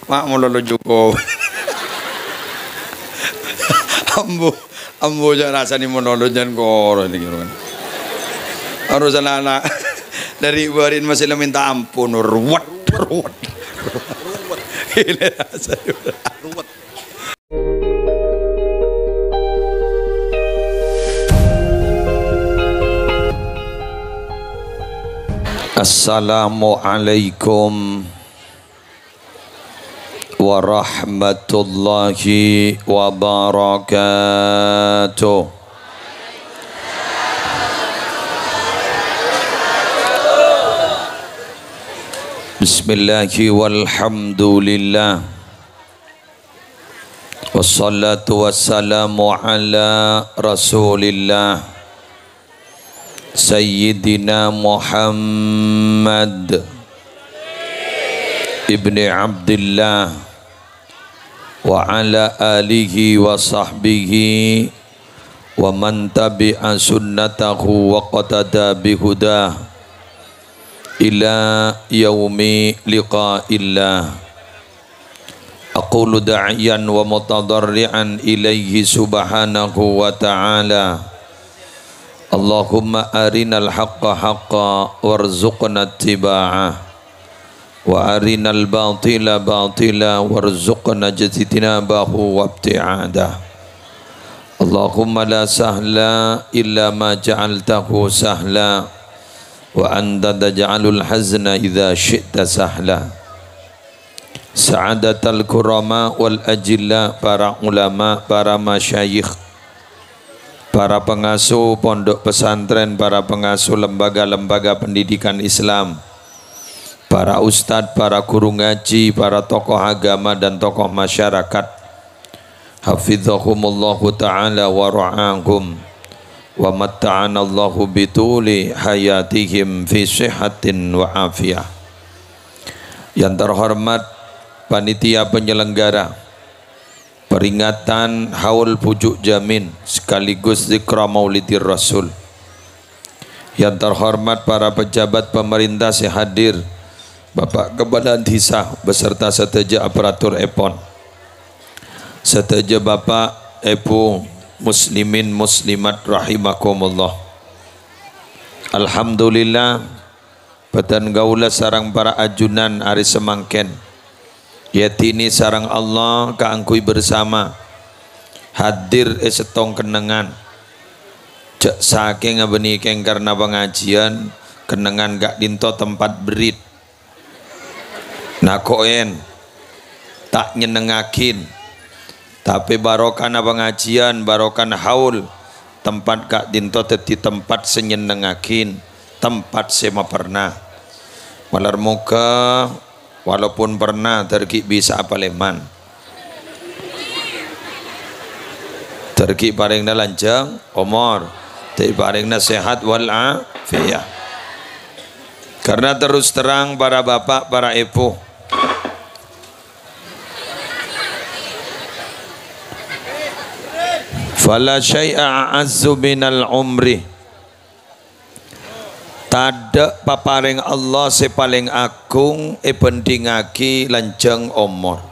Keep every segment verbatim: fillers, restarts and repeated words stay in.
Ma' malolo juko. Ambu, ambu jhâ' rassana malolo jhân koro nèka, kan. Harus ana'-ana' dâri bâri'na masih la minta ampun, ruwet, ruwet. Ruwet. Ini rasanya. Ruwet. Assalamualaikum warahmatullahi wabarakatuh. Bismillahi walhamdulillah. Wassalatu wassalamu ala Rasulillah, Sayyidina Muhammad ibni Abdillah, wa ala alihi wa sahbihi wa man tabi'a sunnatahu waqtada bihudah ila yaumi liqa'illah. Aqulu da'iyan wa mutadarri'an ilaihi subhanahu wa ta'ala. Allahumma arinal haqqa haqqa warzuqna ittiba'ah. Wa arinal batila batila warzuqna ijtinabahu wabti'adah. Allahumma la sahla illa ma ja'altahu sahla. Wa anta taj'alul hazna idza syi'ta sahla. Sa'adatal kurama wal ajilla, para ulama, para masyayikh, para pengasuh pondok pesantren, para pengasuh lembaga-lembaga pendidikan Islam, para ustadz, para guru ngaji, para tokoh agama dan tokoh masyarakat. Hafizahumullahu ta'ala wa ra'ahum, wa matta'anallahu bituli hayatihim fi sihhatin wa afiyah. Yang terhormat panitia penyelenggara peringatan Haul Pucuk Jamin sekaligus Zikra Maulidir Rasul. Yang terhormat para pejabat pemerintah sè hadir, Bapak Kepala Dhisa beserta sadhâjâ aparatur èpon. Sadhâjâ Bapak, Èbhu, muslimin muslimat rahimakumullah. Alhamdulillah, bâdhân kaulâ sareng para ajunan arè samangkèn èadhini sareng Allah kaangghuy bersama hadir è sèttong kennengngan. Jhâ' sakèng abânnè kèng karna pangajiyân, kennengngan ka'dinto tempat berrit. Nako'en, ta' nyennengngaghin. Tapè barokana pangajiyân, barokana haul, tempat ka'dinto dhâddhi tempat sè nyennengngaghin, tempat sè maperna. Malar moghâ, walaupun perna, dhâr ghi' bisa'a palèman. Dhâr ghi' parèngna lanjhâng omor, dhâr ghi' parèngna sehat wal afiyah. Karena terus terang, para bapak, para èbhu, fala syai'a a'azzu minal umri. Tadhâ' paparèng Allah sè palèng agung èbhândhingngaghi lanjhâng omor.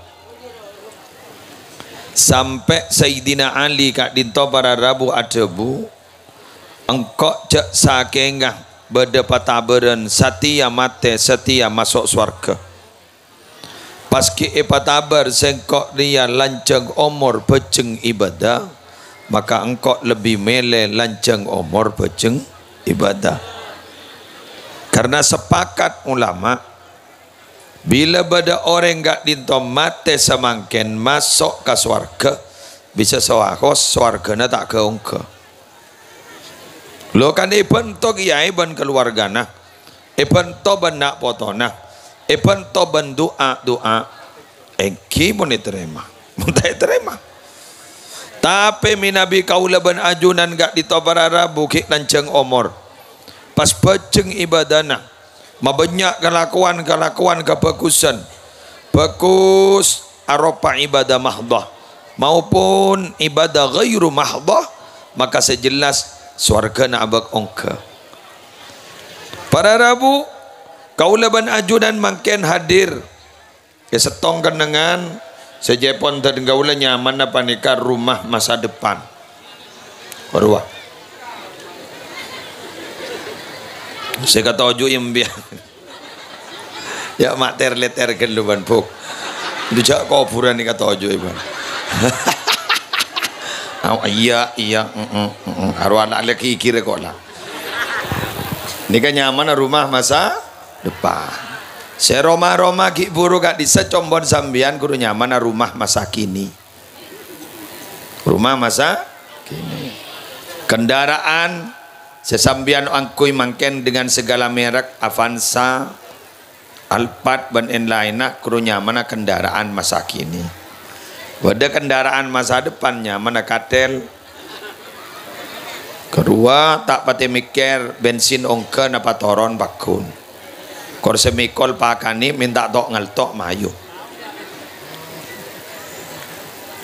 Sampè' Sayyidina Ali ka'dinto para rabu adhâbu, "Engko' jhâ' sakènga bâdâ patabârân satèya matè, satèya maso' sowarghâ." Pas ghi' èpatabâr sèngko' rèya lanjhâng omor bhâjheng ibâdâ, maka engko' lebbi mèlè lanjhâng omor bhâjheng ibâdâ. Karna sapakat ulama, bilâ bâdâ orèng ka'dinto matè samangkèn maso' ka sowarghâ, bisa sawaos sowarghâna ta' ghâ-onggâ. Lo kan èbhânto kèyaè bân kaluwargana, èbhânto bân na' potona, èbhânto bân du'a-du'a, èngghi mon ètarèma. Mon ta' ètarèma. Tapè mènabi kaulâ bân ajunan ka'dinto para rabu ghi' lanjhâng omor, pas bhâjheng ibâdâna, mabânnya' kalakowan-kalakowan kabhâghusân, bhâghus aropa ibâdâ mahdhah maupun ibâdâ ghairu mahdhah, maka sè jelas sowarghâna abâ' ongghâ. Para rabu, kaulâ bân ajunan mangkèn hadir È sèttong kennengngan, sè jhâ' èpon dhâddhi kaulâ nyamana panèka rumah masa depan. Rowa. Sè katoju' èmbiyan. Ya, ma' ter-lèter ghâllu, bân, Bu. Dujâ' kobhurân nèka toju', bân. Aw, iyâ, iyâ, mm, mm, mm, mm. Aro ana' lè ghighir kok, la. Nèka nyamana rumah masa depan. Sè roma-roma ghi' buru ka'dissa' combon sampèyan kodhu nyamana rumah masa kini. Rumah masa kini. Kendaraan sè sampèyan angghuy mangkèn dengan segala merek, Avanza, Alphard, bân èn-laènna, kodhu nyamana kendaraan masa kini. Bâdâ kendaraan masa depan nyamana Kadèl. Karowa ta' patè mèkkèr bensin ongghâ napa toron pagghun. Kor sè mèkol pakanè mènta to'-ngalto' mayu.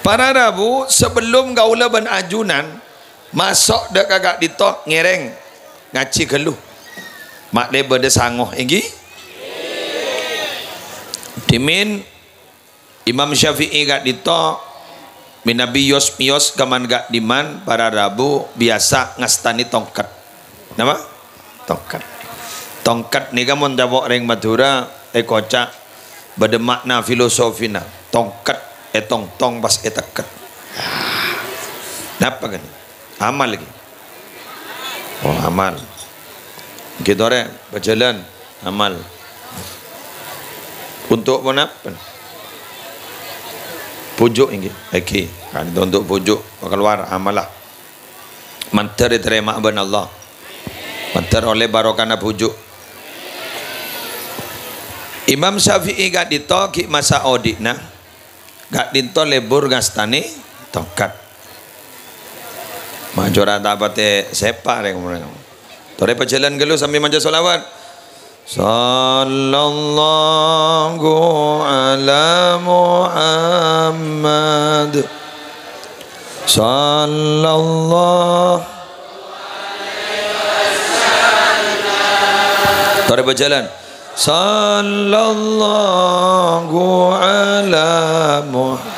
Para rabu, sabellun kaulâ bân ajunan maso' dâ' ka ka'dinto ngèrèng ngajhi ghâllu. Ma'lè bâdâ sango, èngghi? Dhimèn Imam Syafi'i ka'dinto mènabi yos-mèyos ka'man ka'dimman para rabu biyasa ngastanè tongket. Napa? Tongket. Tongket nèka mon ca'na orèng Madhurâ èkoca' bâdâ ma'na filosofina. Tongket ètongtong pas ètekket. Napa ghâni? Amal ghi. Oh, amal. Ghi torè, bhâjhâlân, amal. Untuk ponapa? Bhuju' èngghi. Èngghi. Kan untuk bhuju' kalowar amalla. Mandhâr ètarèma bân Allah. Mandhâr ollè barokana bhuju'. Imam Syafi'i ka'dinto ghi' masa odi'na. Ka'dinto lebur ngastanè tongket. Majora ta' patè sèpa' rèng-orèng. Torè pajhâlân ghâllu sambi maca sholawat. Sallallahu ala Muhammad. Sallallahu. Torè pajhâlân. Sallallahu ala Muhammad.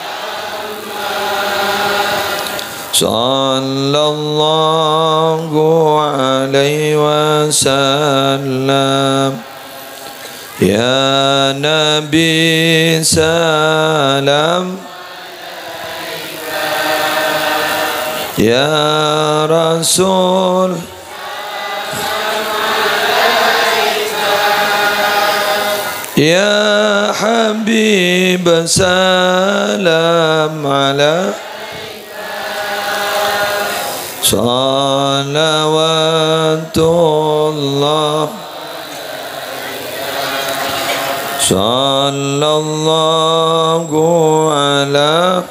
Sallallahu alaihi wasallam. Ya Nabi, salam. Ya Rasul. Ya Habib, salam alaika. Salawatullah. Sallallahu ala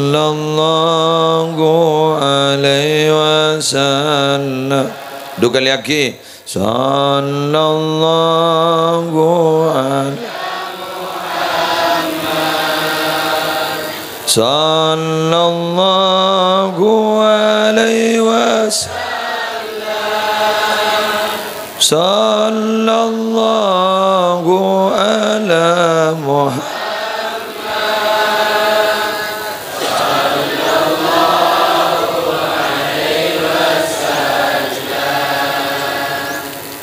Sallallahu alaihi wasallam. Du kalè aghi. Sallallahu ala Muhammad. Sallallahu alaihi wasallam. Sallallahu ala Muhammad.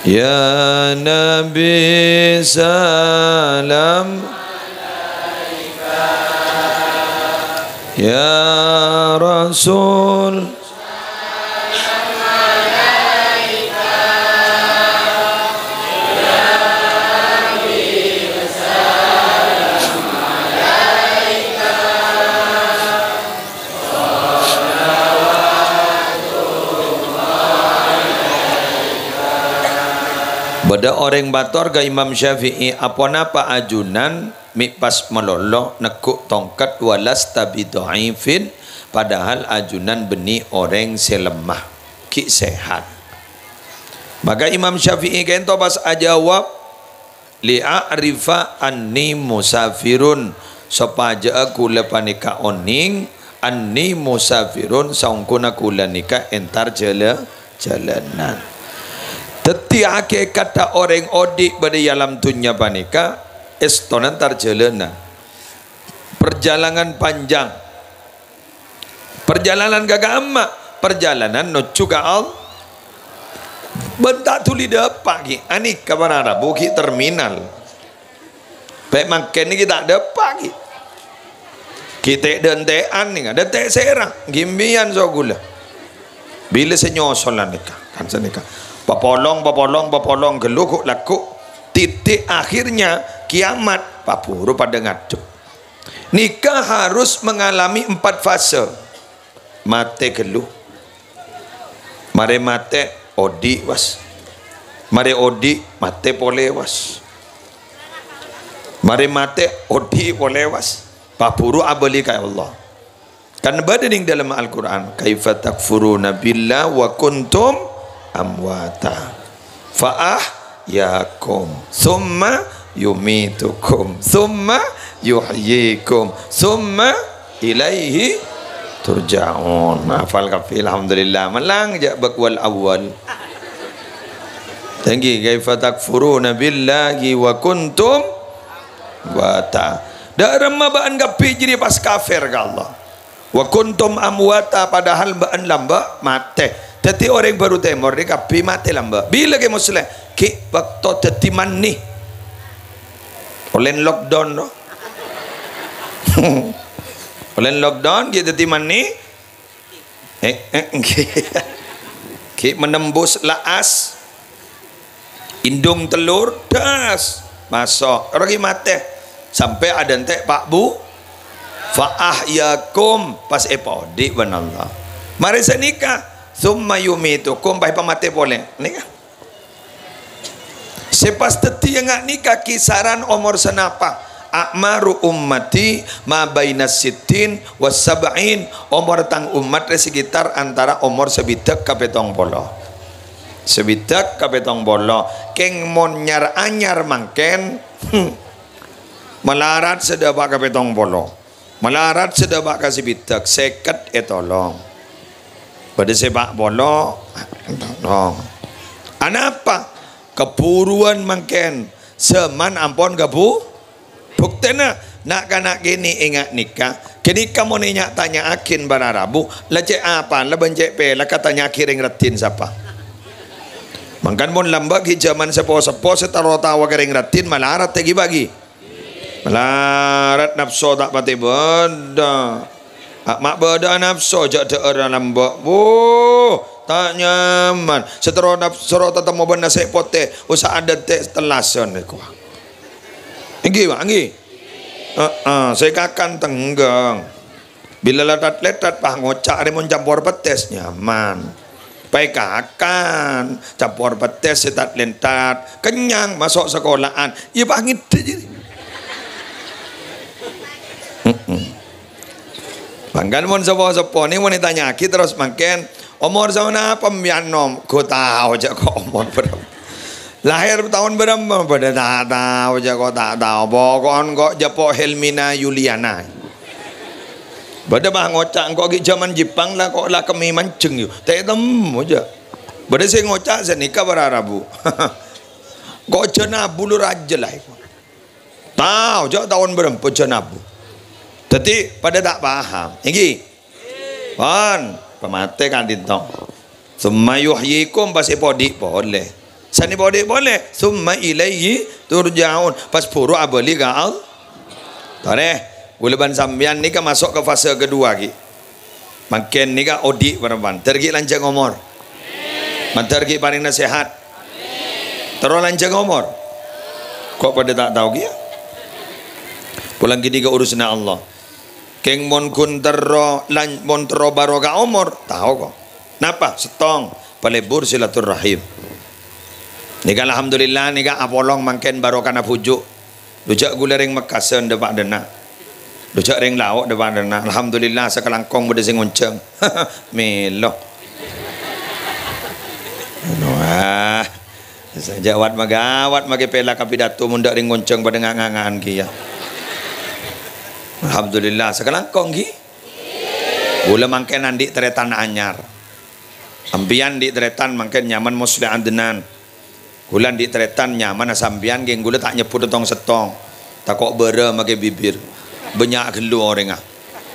Ya Nabi, salam. Ya Rasul. Bâdâ orèng mator ka Imam Syafi'i, "Aponapa ajunan mè' pas malolo neggu' tongket, walasta bidha'ifin, padahal ajunan bânnè orèng sè lemma, ghi' sehat?" Maka Imam Syafi'i ka'ento pas ajâwâb, "Li a'rifa anni musafirun," sopajâ'â kaulâ panèka onèng, "anni musafirun," saongghuna kaulâ nèka entar jhâlâ-, jhâlânan. Dhâddhi, hakèkatta orèng odi' bâdâ è alam dhunnya panèka, èstona entar jhâlânan. Perjalanan panjang. Parjhâlânan ka ka'imma, parjhâlânan nojjhu ka Allah. Bân ta' dhuli dâpa' ghi', anèka para rabu ghi' terminal. Pè' mangkèn nèka ta' dâpa' ghi'. Ghi' tè'-dântè'an nèka, dântè' sèra, ghi' mbiyan so kaulâ. Bilâ sè nyosol anèka, kan sanèka. Papolong, papolong, papolong, ghellu ghu' lagghu'. Titik akhirnya kiamat, paburu padâ ngadhep. Nèka harus mengalami empat fase. Matè ghellu. Marè matè, odi', was. Marè odi', matè polè, was. Marè matè, odi' polè, was. Paburu abâli ka Allah. Kan bâdâ nèng dâlem Al-Qur'an, "Kaifa takfuruna billah wa kuntum amwata." Fa ahyakum, tsumma yumitukum, tsumma yuhyikum, tsumma ilaihi turja'un. Hafal kabbhi, alhamdulillah. Mèlang jâ' bak wal awwal. Tèngghi, "Kaifa takfuruna billahi wa kuntum amwata." Dâ' remma bâ'ân kabbhi jârèya pas kafir ka Allah. "Wa kuntum amwata," padahal bâ'ân lambâ' matè. Dhâddhi orèng Baru Tèmor nèka kabbhi matè lambâ'. Bilâ Kè Muslèh? Ghi' bâkto dhâddhi mani. Ollèn lockdown, no? Ollèn lockdown, ghi' dhâddhi mani. Eh, eh, ghi' menembus la'as. Indung tellur, das, maso'. Ora ghi' matè. Sampè' adântè' pa' bu. Fa ahyakum, pas èpaodi' bân Allah. Marè sanèka, tsumma yumitukum, pas èpamatè polè. Nèka. Sè pas dhâddhiyâ nga' nèka kisaran omor sanapa? A'maru ummati ma baina sittin wa sab'in. Omor tang ommat rè sekitar antara omor sabidhâk ka pètong polo. Sabidhâk ka pètong polo. Kèng mon nyar-anyar mangkèn, hmm, malarat sè dâpa' ka pètong polo. Malarat sè dâpa' ka sabidhâk, sèket ètolong. Bâdâ sè pa' polo, ètolong. Anapa? Kaburuwân mangkèn, jhâman ampon kabu-, Buktèna, na'-kana' kènè' è nga' nèka. Ghânèka mon ènya'-tanya'aghin para rabu, la cè' apana bân cè' pèlakka tanya'aghi rèng raddhin sapa? Mangkana mon lambâ' ghi' jhâman seppo-seppo sè terro tao ka rèng raddhin malarat ghi' bâgi. Malarat, napso ta' patè bâdâ. A-, ma' bâdâ'â napso jhâ' dhâ'ârra lambâ'. Wuh, ta' nyaman. Sè terro nap-, soro tatemmo bân nasè' potè, usaha dântè' tellasan, kowa. Èngghi, Pak, èngghi. Heeh, sè kakan tengghâng. Bilâ lèttat-lèttat, pas ngoca' rè mon campor pettès, nyaman. Pas èkakan, campor pettès sè tat-lèttat, kennyang, maso' sakola'an. Iyâ, pas ngèdhâ' jârèya. Heeh. Mangkana mon seppo-seppo nèka mon ètanya'aghi terros mangkèn, "Omor saonapa mbiyan, Nom?" Ghu tao jhâ' ko' omor bârâmpa. Lahèr taon bârâmpa? Bâdâ ta' tao, jhâ' ko' ta' tao. Poko'en ko' jhâ' po' Helmina Yuliana. Bâdâ pas ngoca' engko' ghi' jhâman Jepang la ko' la kemmè manjheng yu. Ta' ètemmo jhâ'. Bâdâ sè ngoca' sanèka para rabu. Ko' jhâ' nabu lu rajâ la. Tao, jhâ' taon bârâmpa jhâ' nabu. Dhâddhi padâ ta' paham. Èngghi. Pon, pamatè ka'dinto. Tsumma yuhyikum, pas èpaodi' polè. San èpaodi' polè, tsumma ilaihi turja'un, pas buru abâli ka Allah. Torè, kaulâ bân sampèyan nèka maso' ka fase kedua ghi. Mangkèn nèka odi' bârâmpan. Mandhâr ghi' lanjhâng omor. Mandhâr ghi' parèngana sehat. Terro lanjhâng omor. Ko' padâ ta' tao kèya? Polana ghânèka urusanna Allah. Kèng mon ghun terro lan-, mon terro barokah omor, tao ko'. Napa? Sèttong, palebur silaturrahim. Nèka alhamdulillah, nèka apolong mangkèn barokana bhuju'. Dhu jhâ' kaulâ rèng Mekkasân dâpa' dâ' enna'. Dhu jhâ' rèng Lao' dâpa' dâ' enna'. Alhamdulillah, sakalangkong bâdâ sè ngonjhâng. Mèlo. Ah, sajâ' wat-maghâwat maskè pèla' ka pidato mon dâ' rèng ngonjhâng padâ nga'-nganga'an kèya. Alhamdulillah, sakalangkong ghi. Ghulâ mangkèn andi' tarètan anyar. Sampèyan andi' tarètan mangkèn nyamana Musleh Adnan. Ghulâ andi' tarètan nyamana sampèyan, ghi ghulâ ta' nyebbhut tong-settong. Tako' bârâ maskè bibir. Bânnya' ghâllu orèngnga.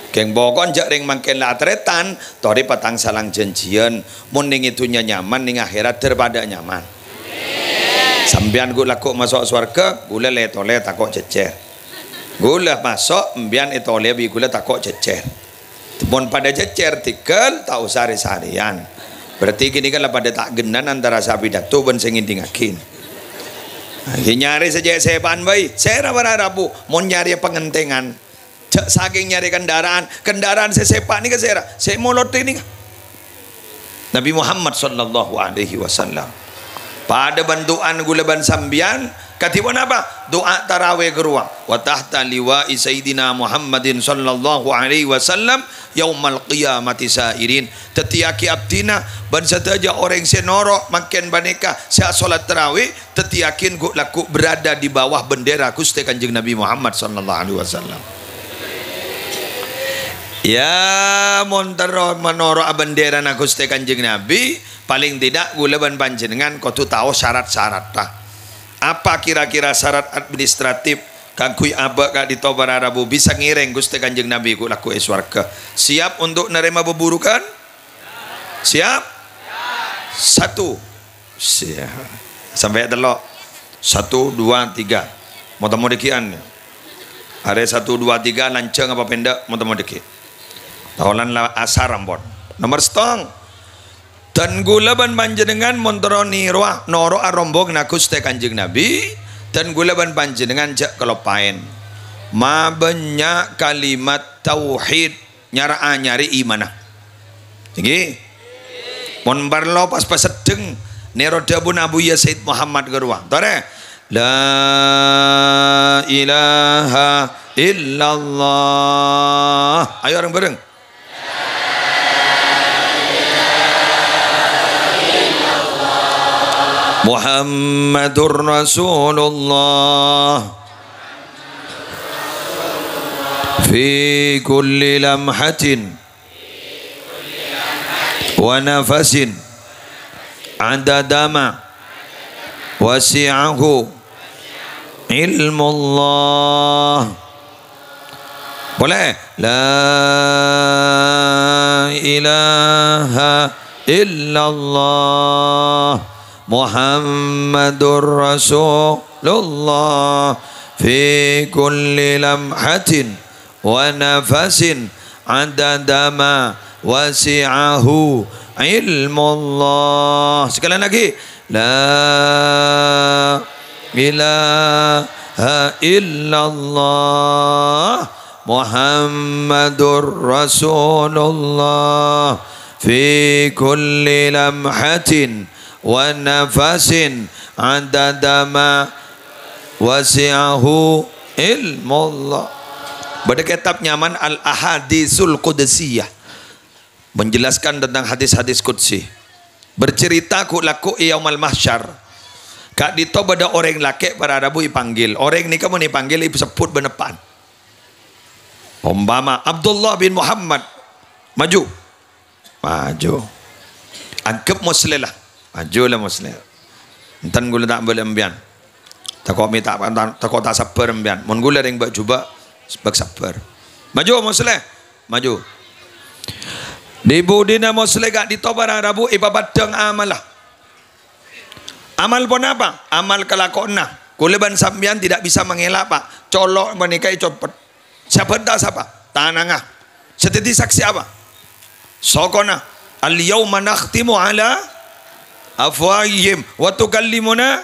Kèng poko'en jâ' rèng mangkèn la atarètan, torè patang salang jhânjhiyân. Mon nèng è dhunnya nyaman, nèng akhèrat dâr padâ nyaman. Sampèyan ghu' lagghu' maso' sowarghâ, ghulâ lè-tolè tako' jhejjhèr. Ghulâ maso', sampèyan ètolèya bi' ghulâ tako' jhejjhèr. Mon padâ jhejjhèr, tèghâl, ta' osa rè-sarèyan. Berarti ghânèka la padâ ta' ghenna antara sè apidato bân sè ngèdingngaghi. Ghi nyarè sè cè' sèpa'an bhâi, sèra para rabu, mon nyarè pangantèngan. Jâ' sakèng nyarè kendaraan, kendaraan sè sèpa' nèka sèra, sè molodhi nèka. Nabi Muhammad sallallahu alaihi wasallam. Padâ bân du'ana ghulâ bân sampèyan, kadhi ponapa? Du'a tarawih ghâruwa. "Wa tahta liwa'i Sayyidina Muhammadin sallallahu alaihi wasallam yaumal qiyamati sa'irin." Dhâddhiyâghi abdhina bân sadhâjâ orèng sè noro' mangkèn panèka sè asolat tarawih, dhâddhiyâghi ghu'-, lagghu' berada di bawah bendera Ghustè Kanjeng Nabi Muhammad sallallahu alaihi wasallam. Ya, mon terro manoro' abendherana Ghustè Kanjeng Nabi, palèng tèdhâ' ghulâ bân panjhennengngan kodhu tao sarat-saratta. Apa kira-kira sarat administratif kaangghuy abâ' ka'dinto para rabu bisa ngèrèng Ghustè Kanjeng Nabi ghu'-, lagghu' è sowarghâ? Siap untuk narèma bhâburughân? Siap? Satu. Siap. Sampè' tello'. Satu, dua, tiga. Mo-temmo dhâggi'ân. Arè satu, dua, tiga, lanjhâng apa pèndhâ', mo-temmo dhâggi'. Taolan la asar ampon. Nomer sèttong. Dân ghulâ bân panjhennengngan mon terro nèrowa, noro'a rombonganna Ghustè Kanjeng Nabi, dân ghulâ bân panjhennengngan jâ' kaloppaèn. Mabânnya' kalimat tauhid. Nyara'a nyarè imanna. Ènggi? Mon parlo pas paseddheng nèro dhâbuna Abuya Said Muhammad ghâruwa. Torè. La ilaha illallah. Ayo reng-bhâreng. Muhammadur Rasulullah. Fi kulli lamhatin wa nafasin adada ma wasi'ahu ilmullah. Polè. La ilaha illallah Muhammadur Rasulullah fi kulli lamhatin wa nafasin adada ma wasi'ahu ilmullah. Sekali lagi. La ilaha illallah Muhammadur Rasulullah fi kulli lamhatin wa nafasin adada ma wasi'ahu ilmullah. Bâdâ kètab nyamana Al-Ahadisul Qudsiyah, menjelaskan tentang hadis-hadis qudsi. Bercerita ghu'-, lagghu' è Yaumal Mahsyar. Ka'dinto bâdâ orèng lakè' para rabu èpanggil. Orèng nèka mon èpanggil èsebbhut bân eppa'na. Ompama Abdullah bin Muhammad, maju. Maju. Anggep Musleh la. Maju la Musleh. Enten ghulâ ta' bâlâ empèyan. Tako' mè' ta', ta', tako' ta' sabbhâr empèyan. Mon ghulâ rèng bâ'-jhubâ', bâk sabbhâr. Maju Musleh. Maju. Di budina Musleh ka'dinto para rabu èpapeddhâng amalla. Amal ponapa? Amal kalakowanna. Ghulâ bân sampèyan tidak bisa mengelak, Pak. Colo' panèka ècoppet. Sè abhânta sapa? Tanangnga. Sè dhâddhi saksè apa? Sokona. "Al-yauma nakhtimu ala afwahihim wa tukallimuna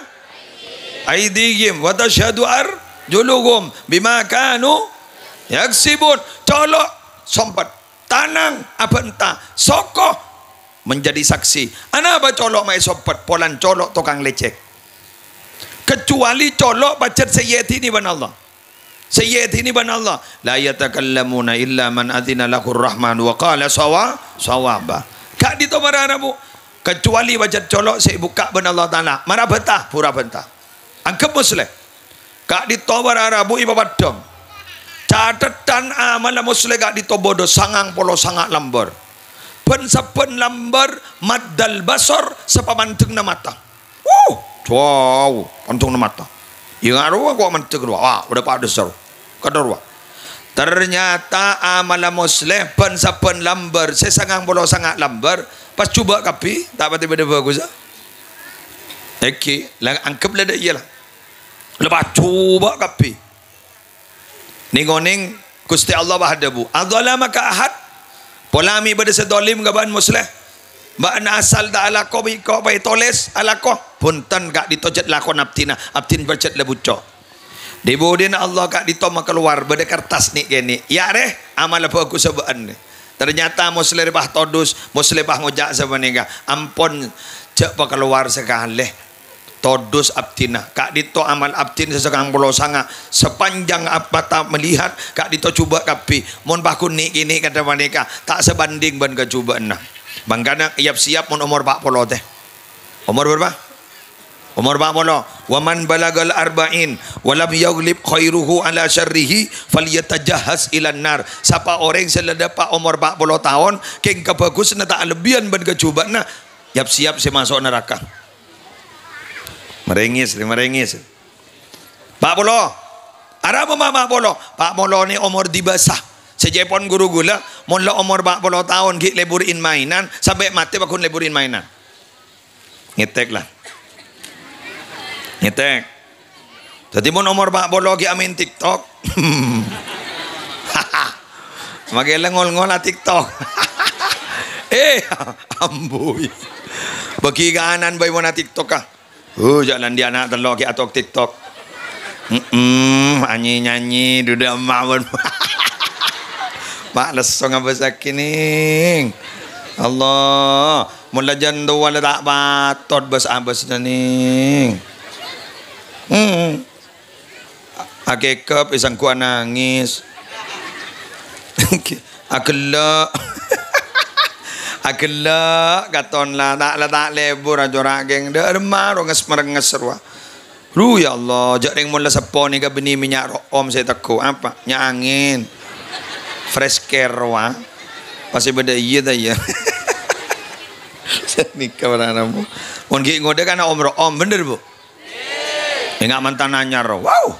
aidihim wa tasyhadu arjuluhum bima kanu yaksibun." Colo' sompet. Tanang abhânta. Soko menjadi saksi. Anapa colo' ma' èsompet? Polana colo' tokang lècèk. Kecuali colo' pajhât sè èèdhinè bân Allah. Sè èèdhinè bân Allah. "La yatakallamuna illa man adzina lahur rahman wa qala sawa-, sawaba." Ka'dinto para rabu. Kecuali pajhât colo' sè èbukka' bân Allah Ta'ala. Mara bhânta, bhuru bhânta. Angghep Musleh. Ka'dinto para rabu èpapaddhâng. Cathèdhân amalla Musleh ka'dinto bâdâ sangang polo sanga' lambâr. Bân sabbhân lambâr maddal basor sapamandhângnga mata. Wuh, jhâu, pandhângnga mata. Iyâ, nga' rowa kok mandhâng rowa. Wah, bâdâ padâsa rowa. Kadâ rowa. Ternyata amalla Musleh bân sabbhân lambâr, sè sangang polo sanga' lambâr, pas jhubâ' kabbhi, ta' patè bâdâ bhâghussa. Èngghi, la angghep la dâ' iyâ la. La pas jhubâ' kabbhi. Nèng-onèng Ghustè Allah pas adhâbu, "Adzalamaka ahad?" Pola mè' bâdâ sè dzalim ka bâ'na Musleh? Bâ'na asal ta' alako bi' ko' pa ètolès alako? Bhunten, ka'dinto jhât lakona abdhina, abdhina pajhât la bucco'. Dhi-budhina Allah ka'dinto makalowar bâdâ kertas nè'-kènè'. Iyâ rè, amalla bhâghussa bâ'na. Ternyata Musleh rè pas todus, Musleh pas ngoca' sapanèka, "Ampon, jhâ' pakalowar sakalè." Todus abdhina, ka'dinto amal abdhina sè sangang polo sanga', sapanjhâng ap-, mata melihat, ka'dinto jhubâ' kabbhi. Mon pas ghun nè'-kènè' kadhâ' panèka, ta' sabhânding bân kajhubâ'ânna. Mangkana, yap-siyap mon omor pa' polo tè. Omor bârâmpa? Omor pa' polo. "Wa man balagal arba'in wa lam yaghlib khairuhu ala syarrihi falyatajahhaz ilan nar." Sapa orèng sè la dâpa' omor pa' polo taon, kèng kabhâghusânna ta' alebbiyân bân kajhubâ'ânna, yap-siyap sè maso' naraka. Marèngès, marèngès. Pa' polo. Arapa ma' pa' polo? Pa' polo nè omor dibâsa. Sè ca'èpon ghuru ghulâ, mon la omor pa' polo taon ghi' lebur in-maènan, sampè' matè paghun lebur in-maènan. Ngètèk la. Ngètèk. Dhâddhi mon omor pa' polo ghi' amaèn TikTok. Makè la ngol-ngola TikTok. Eh, ambuy. Bâgi kanan bhâi monna TikTok, ah. Uh, jhâ' la andi' ana' tello' ghi' atok TikTok. Mm-mm, nyanyi-nyanyi, dudu emma' pon. Ma' lesso ngabâssaghi, Nèng. Allah, mon la jân towa la ta' patot bâs-abâs, Nèng. Hmm. Akèkep, èsangghuwâ nangès. Aghellâ'. Aghellâ' katon la, ta', la ta' lebur, acora' kèng. Dâ' remma ro nges-, merenges rowa. Ru, ya Allah, jhâ' rèng mon la seppo nèka bânnè mènnya' ro'om sè ètegghu'. Apa? Mènnya' angèn. Fresh care rowa. Pas sè bâdâ iyâ ta' iyâ? Sanèka para rabu. Mon ghi' ngodâ kan om-ro'om, bhender, Bu? Enga' mantan anyar. Wow.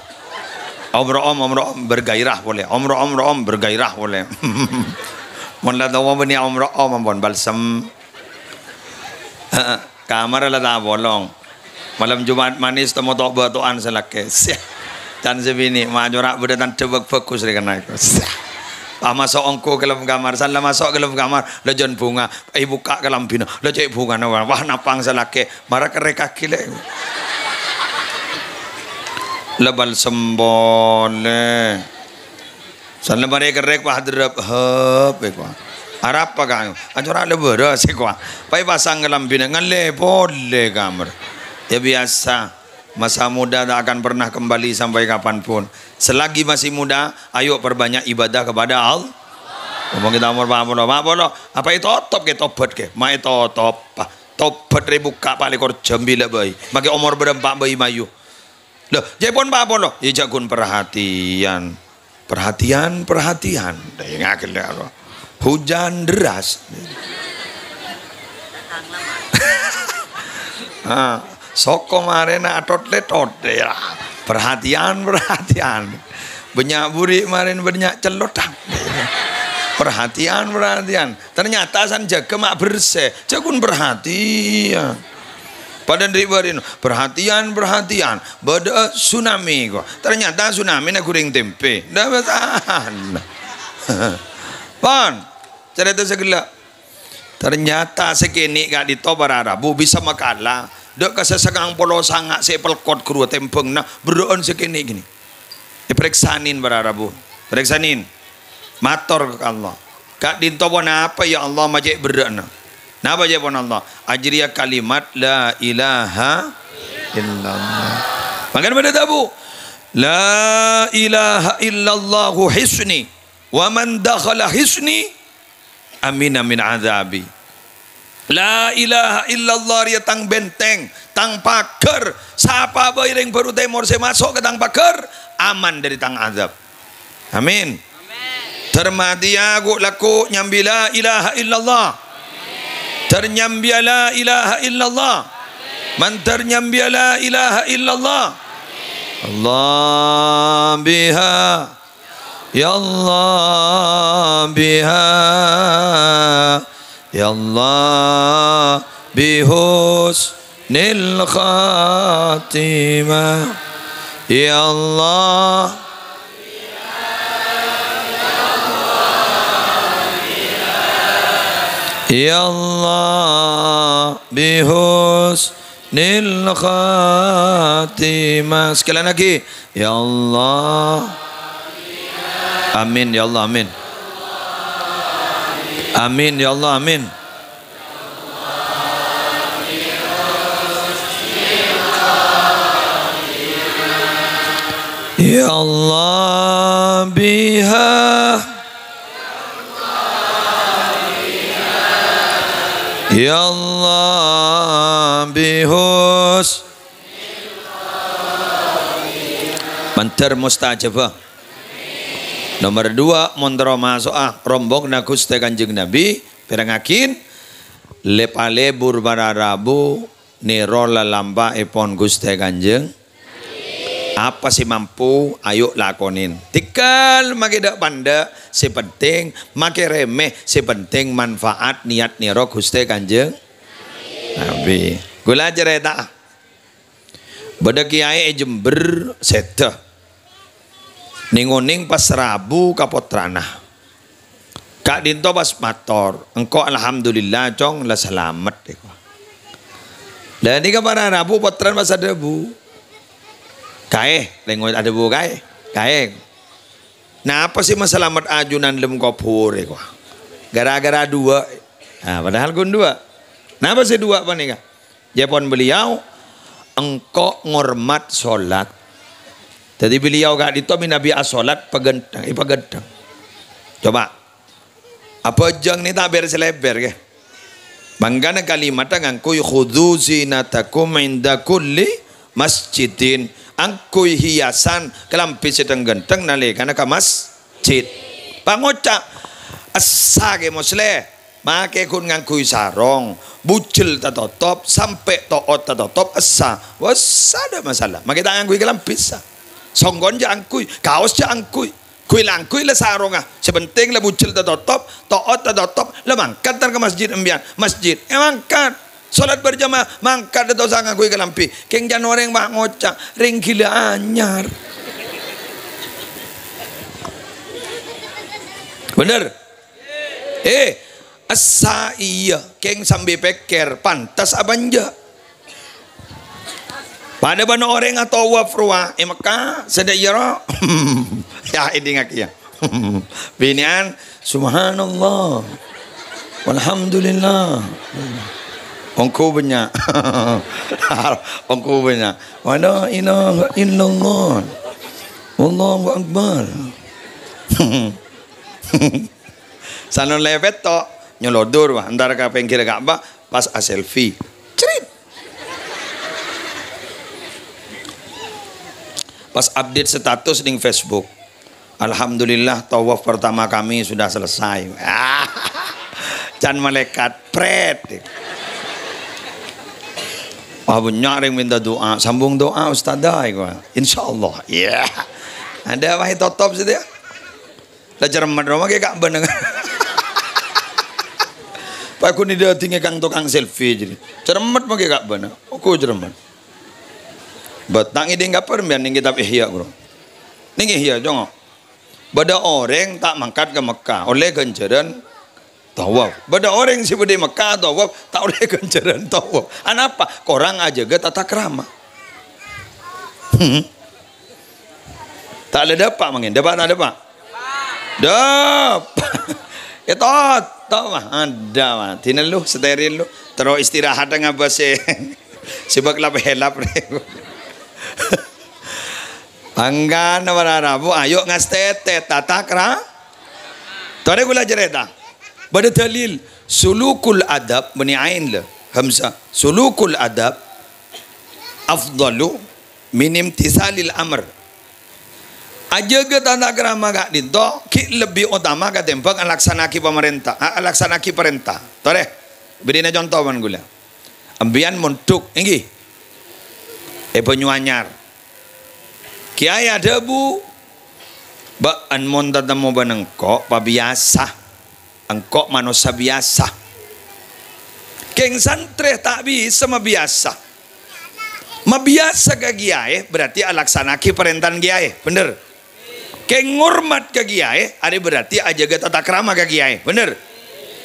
Om-ro'om, om-ro'om bergairah polè. Om-ro'om, ro'om bergairah polè. Mon la towa bânnè om-ro'om ampon balsem. Heeh, kamar la ta' apolong. Malem Jumat manis temo to'-bâto'an sè lakè'. Syah. Can sè binè', ma' acora' bâdâ tandhâ bâk-bhâghus rè kennèng. Syah. Pas maso' ongghu ka dâlem kamar, san la maso' ka dâlem kamar, la jân bhunga, èbukka' kalambhina, la cè' bhungana, wah, napang sè lakè'. Mara kerrèkaghi, Lè'. La balsem polè. San la marè kerrèk, wah, derrep, hep, èkowa. Arapa, Kang? Acora' la bârâs, èkowa. Paè pasang kalambhina, ngallè polè kamar. Ya, biasa. Masa muda tak akan pernah kembali sampai kapanpun. Selagi masih muda, ayo perbanyak ibadah kepada Allah. Ngomong kita umur empat puluh, empat puluh. Apa ètotop kè, tobat kè? Ma' ètotop. Tobat rè bukka' pa' lèkor jam bilâ bhâi. Makè omor bârâmpa bhâi mayu. Lho, jhâ' pon pa' polo. Yâ, jhâ' ghun perhatian. Perhatian, perhatian. Dâ' ngagel dâ' Allah. Hujan deras. Ah, soko marèna atot-letot. Ya. Perhatian, perhatian. Bânnya' buri' marèn bânnya' celotang. Perhatian, perhatian. Ternyata san jâgâ ma' bersè. Jhâ' ghun perhatian. Padâ ri'-bâri'na, "Perhatian, perhatian, bâdâ'â tsunami," ko. Ternyata tsunamina ghuring tèmpè. Dâ' bâsana. Pon, carèta sè ghellâ'. Ternyata sè kènè' ka'dinto para rabu bisa makala dâ' ka sè sangang polo sanga' sè èpelkot ghâruwa tèmbhângnga berrâ'ân sè kènè' ghi. Èparèksanè para rabu. Parèksanè. Mator ka Allah. Ka'dinto ponapa, ya Allah, ma' cè' berrâ'na? Napa ca'èpon Allah? Ajâriyâ kalimat la ilaha illallah. Mangkana bâdâ dhâbu, "La ilaha illallahu hisni, wa man dakhala hisni amina min adzabi." La ilaha illallah rèya tang benteng, tang paghâr. Sapa bhâi rèng bâru tèmor sè maso' ka tang paghâr, aman dâri tang adzâb. Amin. Dâr matèya ghu' lagghu' nyambi la ilaha illallah. Dâr nyambiyâ la ilaha illallah. Mandâr nyambiyâ la ilaha illallah. Allah biha. Ya Allah biha. Ya Allah bihusnil khatimah. Ya Allah. Ya Allah bihusnil khatimah. Sekali lagi. Ya Allah. Amin, ya Allah, amin. Amin, ya Allah, amin. Ya Allah biha. Ya Allah bihus. Mandâr mustajabah. Nomer dua, mon terro maso'a rombonganna Ghustè Kanjeng Nabi, pèrengngaghi, lè-palebur para rabu nèro lalampa'èpon Ghustè Kanjeng. Apa sè mampu, ayo lakonè. Tèngghâl makè dâ'-pandâ', sè penting makè rèmè, sè penting manfaat niat nèro Ghustè Kanjeng Nabi. Ghulâ carèta. Bâdâ kèyaè è Jember sèdhâ. Nèng-onèng pas rabu ka pottrana. Ka'dinto pas mator, "Engko' alhamdulillah, Cong, la salamet," èkowa. Lah nèka para rabu pottrana pas adhâbu, "Kaè, lèngo adhâbu kaè, kaè. Napa sè masalamet ajunan lem kobhur," èkowa. "Gara-gara duwâ'." Nah, padahal ghun duwâ'. Napa sè duwâ' panèka? Jâwâbbhân beliau, "Engko' ngormat solat." Dhâddhi beliau ka'dinto mènabi asolat paghânteng, èpaghânteng. Coba. Abhâjâng nè ta' bher-salèbher, ghi. Mangkana kalimatta ngangghuy, "Khudzu zinatakum inda kulli masjidin." Angghuy hiasan kalambhi sè dhâng-ghântheng nalèkana ka masjid. Pangoca', "Essa, Kè Moslè." Makè ghun ngangghuy sarong, bujel tatotop, sampè' to'ot tatotop, essa. Wes, adâ' masalah. Makè ta' ngangghuy kalambhi, essa. Songghon jhâ' angghuy, kaos jhâ' angghuy. Ghuy la angghuy la sarongnga. Sè penting la bujel tatotop, to'ot tatotop, la mangkat tar ka masjid embiyan. Masjid, eh, mangkat. Solat berjamaah, mangkat dâ' tosa ngangghuy kalambhi. Kèng can orèng ma' ngoca', "Rèng ghilâ anyar." Bhender? Eh, essa iyâ, kèng sambi pèkkèr, pantes apa enjâ'? Padâ bân orèng atowaf rowa è Mekkah, sè dâ' iyâ ro. Ya, èdingngaghi, ya. Binè'an, "Subhanallah. Walhamdulillah." Ongghu bânnya'. Ongghu bânnya'. "Wa la ilaha illallah. Wallahu akbar." Sanon lèpèt to, nyolodur, wah, entar ka pèngghir Ka'bah, pas a-selfie. Crit. Pas update status ning Facebook. "Alhamdulillah, tawaf pertama kami sudah selesai." Can malaikat, pret. Wah, bânnya' rèng minta doa. "Sambung doa, Ustadzah," èkowa. "Insyaallah." Iya. Adâ' wae totop situ, ya. La cermet ro makè Ka'bah neng. Paghun èdhâddhingè kang tokang selfie jârèya. Cermet makè Ka'bah neng. Oku cermet. Bâtang èdhing kapèr mbiyan ning kitab Ihya, Bro. Ning Ihya, congo'. Bâdâ orèng ta' mangkat ka Mekkah, ollè ghânjhârân tawaf. Bâdâ orèng sè bâdâ è Mekkah tawaf, ta' ollè ghânjhârân tawaf. Anapa? Korang ajâgâ tata krama. Hmm. Ta' la dâpa' mangkèn, dâpa' ta' dâpa'? Dâpa'. Ètotop, mah. Adâ', mah. Dinah lu, steril lu. Terro istirahat ngabâs sè, sè bâk lap-hèlap rè. Mangkana para rabu, ayo ngastètè tata kra-, Torè ghulâ carèta. Bâdâ dalil. Sulukul adab, bânnè ain la, hamzah. Sulukul adab afdalu min imtisalil amr. Ajâgâ tata krama ka'dinto ghi' lebbi otama katèmbhâng alaksana'aghi pamarènta, a-, alaksana'aghi parènta. Torè, bèrri'na conto bân ghulâ. Empèyan mondhuk, èngghi. È Banyuanyar. Kèyaè adhâbu, "Bâ'ân mon tatemmo bân engko' pabiyasa. Engko' manossa biyasa." Kèng santrè ta' bisa mabiyasa. Mabiyasa ka kèyaè berarti alaksana'aghi parèntana kèyaè, bhender? Kèng ngormat ka kèyaè, arè berarti ajâgâ tata krama ka kèyaè, bhender?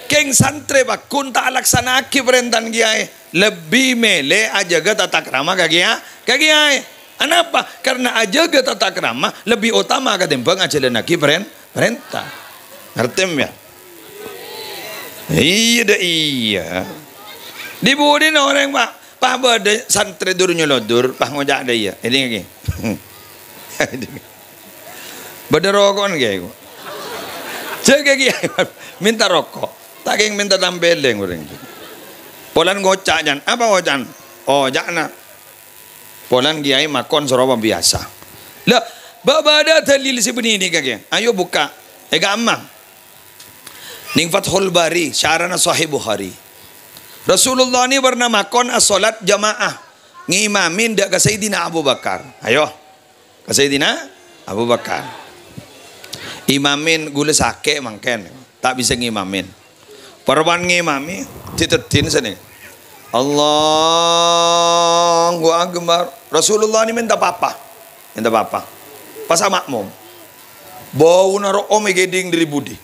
Kèng santrè pagghun ta' alaksana'aghi parèntana kèyaè, lebbi mèlè ajâgâ tata krama ka kèya-, ka kèyaè. Anapa? Karena ajâgâ tata krama lebbi otama katèmbhâng ajhâlânnaghi parèn-, parènta. Ngartè, ya? Iyâ, dâ' iyâ. Di budina orèng, Pa', Pa' bâdâ santrè dur-nyolodur, Pa' ngoca' dâ' iyâ. Èdingngaghi. Bâdâ roko'na kèyaè, ko'. Jâgâ kèyaè, mènta roko'. Ta' kèng mènta tampèlèng orèng. Polana ngoca', can. Apa ngoca'na? Oh, ca'na. Polana kèyaè makon soro pabiyasa. Lah, bâ-, bâdâ dalil sè bânnè nèka, kèyaè. Ayo bukka'. È kamma. Nèng Fathul Bari, syarana Sahih Bukhari. Rasulullah nè pernah makon asholat jamaah. Ngimami dâ' ka Sayyidina Abu Bakar. Ayo. Ka Sayyidina Abu Bakar. Imamin ghulâ sakè' mangkèn, ta' bisa ngimamin. Parappa'na ngimami, diteddhin sanè. Allahu Akbar. Rasulullah nè mènta papa. Mènta papa. Pas ama'mum. Bâuna ro'om èghèdhing dâri budi.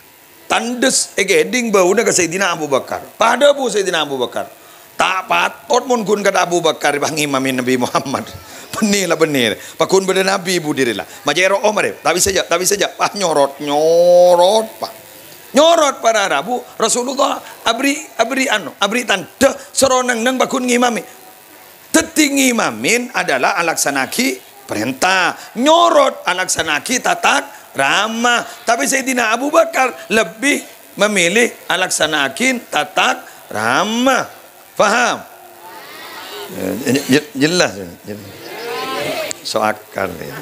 Tandhes èghèdhing bâuna ka Sayyidina Abu Bakar. Padâ bu Sayyidina Abu Bakar. Ta' patot mon ghun ka Abu Bakar èpangimami Nabbhi Muhammad. Bânnè la bânnè. Pagghun bâdâ nabbhi budi rè la. Majâ' ro'om arè. Ta' bisa jâ', ta' bisa jâ'. Wah, nyorot, nyorot, Pa'. Nyorot para rabu, Rasulullah aberri', aberri' anu, aberri' tandhâ, soro neng-enneng pagghun ngimami. Dâddhi ngimamin adalah alaksana'aghi parènta, nyorot alaksana'aghi tata krama. Tapè Sayyidina Abu Bakar lebbi memilih alaksana'aghi tata krama. Paham? Ya, je-, jelas, ya, jelas. So akal, ya.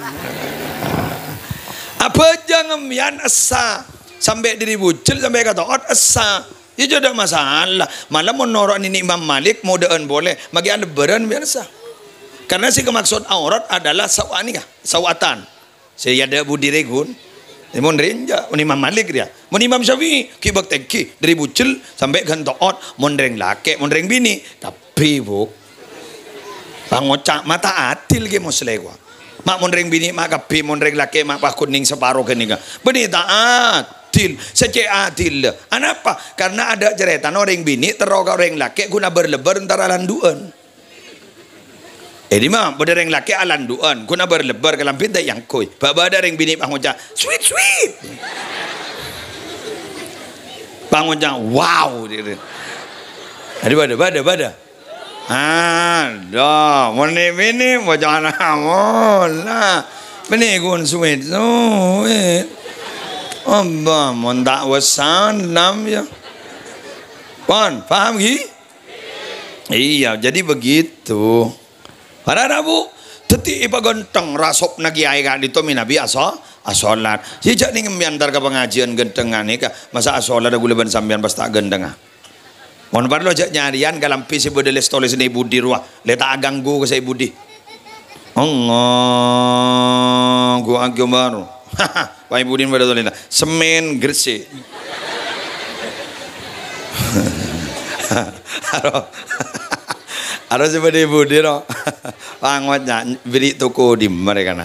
Abhâjâng empèyan essa, sampè' dâri bujel, sampè' ka to'ot essa. Iyâ, jhâ' tadâ' masalah. Mala mon noro' nènè Imam Malik, modâ'ân polè, maghi alebbhârân biyasa. Karena sè èkamaksod aurat adalah sawa'an nèka, sawa'an. Sè èadâ' budi rè ghun. Mon rènja, mon Imam Malik rèya. Mon Imam Syafi'i, ghi' bâk-, tèngghi, dâri bujel sampè' ghân to'ot, mon rèng lakè', mon rèng binè', kabbhi, Bu. Pangoca' mata adil ghi' moslè, wa. Ma' mon rèng binè' ma' kabbhi, mon rèng lakè' ma' paghun nèng saparo ghânèka. Bânnè ta' adil, sè cè' adil. Anapa? Karena adâ' carètana orèng binè' terro ka orèng lakè' ghun abâr-lebbâr èntara landu'ân. È dimma bâdâ rèng lakè' alandu'ân, ghun abâr-lebbâr kalambhi ta' èangghuy. Bâ-, bâdâ rèng binè' pangoca', "Sweet, sweet." Pangoca', "Wow." Adhu, bâdâ, bâdâ, bâdâ. Adhu, mon nè binè' bocana mola. Bânnè ghun sweet, sweet. Abba, mon ta' wèssan, lam, ya. Pon, paham, ghi? Iyâ, jadi begitu. Para rabu, dâddhi èpaghântheng rasopna kèyaè ka'dinto mènabi aso-, asolat. Sè jhâ' nèng empèyan entar ka pangajiân ghânthengnga nèka, masa' asolat ghulâ bân sampèyan pas ta' ghânthengnga. Mon parlo jhâ' nyarèyan kalambhi sè bâdâ lès-tolèsna è budi rowa, lè ta' aghânggu ka sè è budi. Allahu Akbar. Pas è budina bâdâ tolèna. Semmèn Gresik. Aro, aro sè bâdâ è budi, ro. Pangoca', bâri' toko dimma rè kana.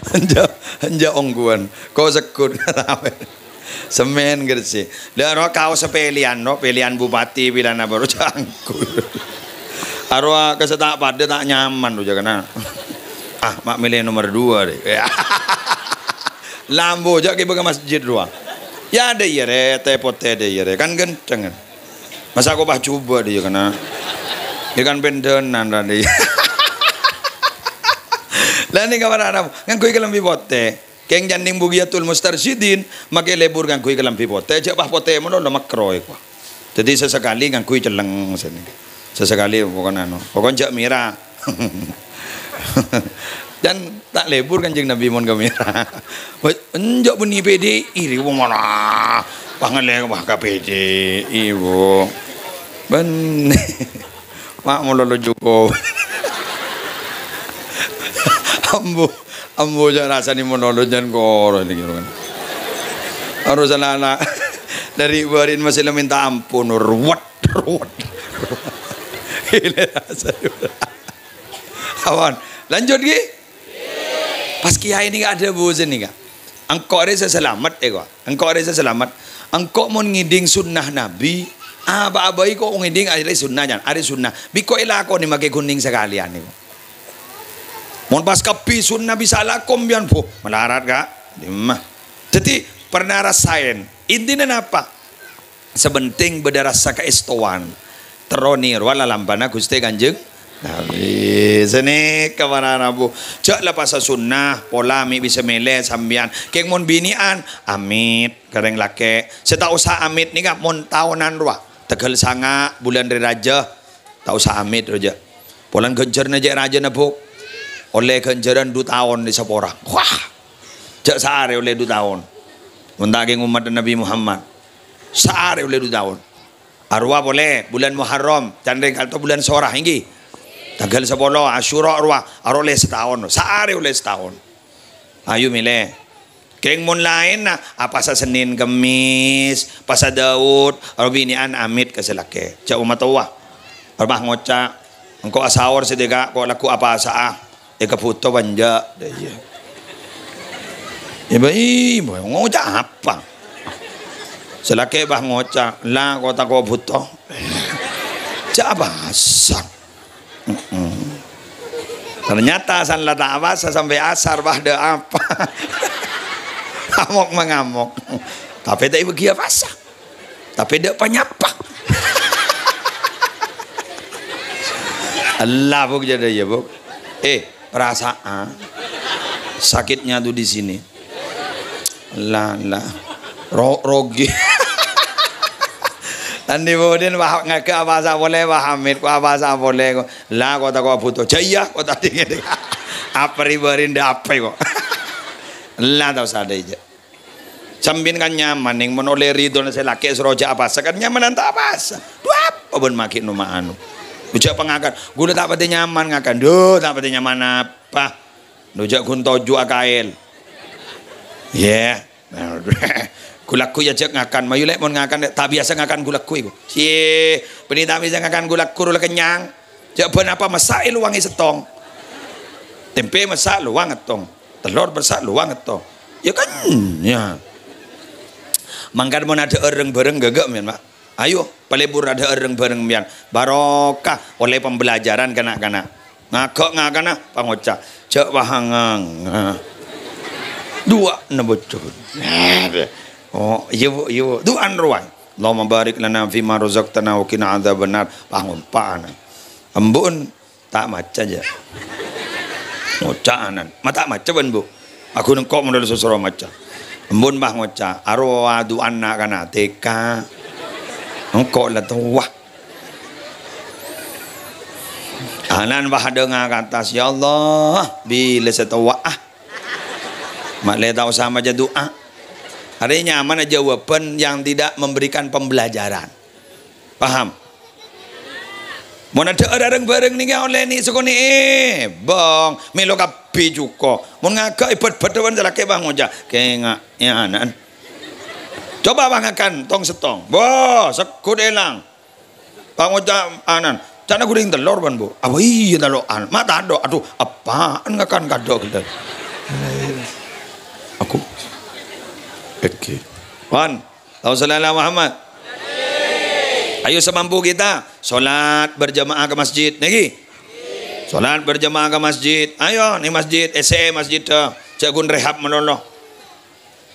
Enja', enja' ongghuwân. Ko' segghut. Semmèn Gresik. Lah, ro kaos pèlèyan, ro, pèlèyan bupati, pèlèyan apa, ro, jhâ' angghuy. Aro ka sè ta' padâ ta' nyaman, ro, jhâ' kèna. Ah, ma' mèlè nomer dua, rè. Lambu, jhâ' ghibâ ka masjid, ro. Yâ, adâ' iyâ, rè, tè potè adâ' iyâ, rè. Kan ghântheng, kan. Masa' ko' pas jhubâ' dhi, yâ, kèna. Yâ kan pendhânan, ra, dhi. Lah, nèka para' Arab, ngangghuy kalambhi potè. Kèng jhâ' nèng Bughyatul Mustarsyidin, makè lebur ngangghuy kalambhi potè, jhâ' pas potè malolo makro èko. Dhâddhi sasakalè ngangghuy cellèng sènè. Sasakalè pokokna anu, pokokna jhâ' mèra. Jhân ta' lebur Kanjeng Nabi mon ka mèra. Wah, enjâ' bânnè P D I, ri wong ana. Pangalè wah ka P D I, Bu. Bânnè. Ma' malolo jhuko. Ambu, ambu jhâ' rassana malolo jhân koro nèka. Harus ana'-ana' dâri bâri'na masih la mènta ampon, ruwet, ruwet. Ini rasanya. Awan, lanjut ghi. Pas kiai nèka adhâbu sènè, Ka'. Engko' rè sè salamet, èko. Engko' rè sè salamet. Engko' mon ngèdhing sunnah Nabi, apa'a bhâi ko' ngèdhing arè sunnah, jhân. Arè sunnah. Bi' ko' èlakonè makè ghun nèng sakalèyan, èko. Mon pas kabbhi sunnah bisa alako, sampèyan, bu, malarat, Ka'. Dimma. Dhâddhi, pernah rasaèn. Intina napa? Sè pentèng bâdâ rassa kaèstowan. Terro nèrowa lalambâna Ghustè Kanjeng Nabi. Sanèka para rabu. Jhâ' la pasa sunnah, pola mè' bisa mèlè sampèyan. Kèng mon binè'an, amit ka rèng lakè'. Sè ta' osa amit nèka mon taonan rowa. Tangghâl sanga' bulân Rè Rajâ. Ta' osa amit rowa jhâ'. Polana ghânjhârânna cè' rajâna, Bu. Ollè ghânjhârân du taon èsapora. Wah! Jhâ' saarè ollè du taon. Mon ta' kèng ommaddhâ Nabi Muhammad. Saarè ollè du taon. Arowa polè, bulân Muharram, can rèng kalto bulân Sora, èngghi. Tangghâl sapolo, Asyura rowa, arowa ollè sataon, saarè ollè sataon. Ayo mèlè. Kèng mon laènna, apasa Sennèn Kemmès, pasa Daud, arowa binè'an amit ka sè lakè'. Jhâ' omatowa. Arowa ngoca', "Engko' asaor sè dika', ko' lagghu apasa'a." Èkabhuto apa enjâ'? Iyâ. Iyâ, bâ, iyâ, bâ, ngoca' apa? Sè lakè' bâ ngoca', "La, ko' tako' bhuto." Jhâ' apasa. Mm-mm. Ternyata san la ta' apasa sampè' asar, bâ, dâ' apa? Amok-mangamok. Tapè ta' èbâghi apasa. Tapè dâ' panyapa. Ella, Bu, jhâ' dâ' iyâ, Bu. Eh, perasaan. Sakitnya tuh di sini. Ella, ella. Ro-, rogi. Tandhi budin, wah, ngaghâ' apasa polè, wah, amit, ko' apasa polè, ko'. La, ko' tako' bhuto. Jhâ' iyâ, ko' tadâ' ngènè. Apa ribâ rinda apa, ko'? Ella, ta' osa dâ' iyâ. Sampèyan kan nyaman, nèng mon ollè ridhona sè lakè' soro jhâ' apasa, kan nyamanan ta' apasa. Dhu apa bân maghi' no-mano. Jhâ' pangakan, "Ghulâ ta' patè nyaman ngakan." Dhu, ta' patè nyaman apa? Dhu jhâ' ghun toju' A K L. Yè. Ghu-lagghu jhâ' ngakan, mayu lè' mon ngakan, ta' biyasa ngakan ghu-lagghu iku. Cie, bânnè ta' biyasa ngakan ghu-lagghu, rowa la kennyang. Jhâ' bân apa massa' è lowang è sèttong. Tèmpè massa' lowang èttong. Tellor massa' lowang èttong. Yâ kan, yâ. Mangkana mon adhâ'âr rèng-bhâreng ghâghâ, mèn, Pak. Ayo, palebur adhâ'âr rèng-bhâreng, mèn. Barokah, ollè pembelajaran ka na'-kana'. Ngaghâ' ngakana, pangoca'. Jhâ' wahang. Duwâ'na bocor. Oh, iyâ, Bu, iyâ, Bu. Du'an rowa. "Allahumma barik lana fima razaqtana wa qina adzabannar." Pangompa'an. Embu'en ta' maca, jhâ'. Ngoca'anan. Ma' ta' maca bân, Bu. Aghun engko' model sosoro maca. Embun, bâ, ngoca'. Arowa du'ana kana T K. Engko' la towa. Anan, bâ, dâ' ngakata, "Ya Allah, bilâ sè towa, ah." Ma' lè ta' osa maca du'a. Arèya nyamana jawaban yang tidak memberikan pembelajaran. Paham? Mon adhâ'âr rèng-bhâreng nèka ollè nè' sakonè', bâng, mèlo kabbhi jhuko. Mon ngaghâ' èbât-bât bân sè lakè', bâ, ngoca', "Kènga', yâ, ana'en." Coba, bâ, ngakan tong-sèttong. Bâ, segghut èlang. Bâ, ngoca' anan, "Ca'na ghun rèng tellor, bân, Bu." "Apa iyâ tellor?" "An-, ma' tadâ'." "Adhu, eppa'en ngakan kadâ' ghellâ'." Aku. Oke. Wan. Allahumma sholli ala Muhammad. Ayo semampu kita, sholat berjamaah ke masjid. Nèka. Sholat berjamaah ke masjid. Ayo, nè masjid, èssè'è masjid, eh. Jhâ' ghun rehab malolo.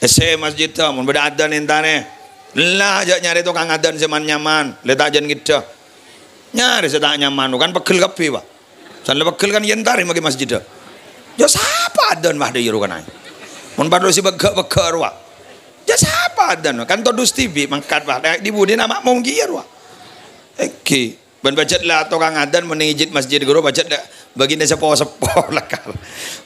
Èssè'è masjid, eh. Mon bâdâ adzan èntarè. La, jhâ' nyarè tokang adzan sè man-nyaman. Lè ta' jhân ngèdhâ. Nyarè sè ta' nyaman, kan pegghel kabbhi, Pak. San la pegghel kan yèn tarè maghi masjidda. Yâ sapa adzan mah dâ' iyâ rowa kana. Mon parlo sè pegghâ'-pegghâ' rowa. Jhâ' sapa adzan? Kan todus dhibi' mangkat, wah. Di budina ma'mum kèya rowa. Èngghi. Bân pajhât la tokang adzan mon neng è jhât masjid ghuru pajhât la bâgina seppo-seppo lakar.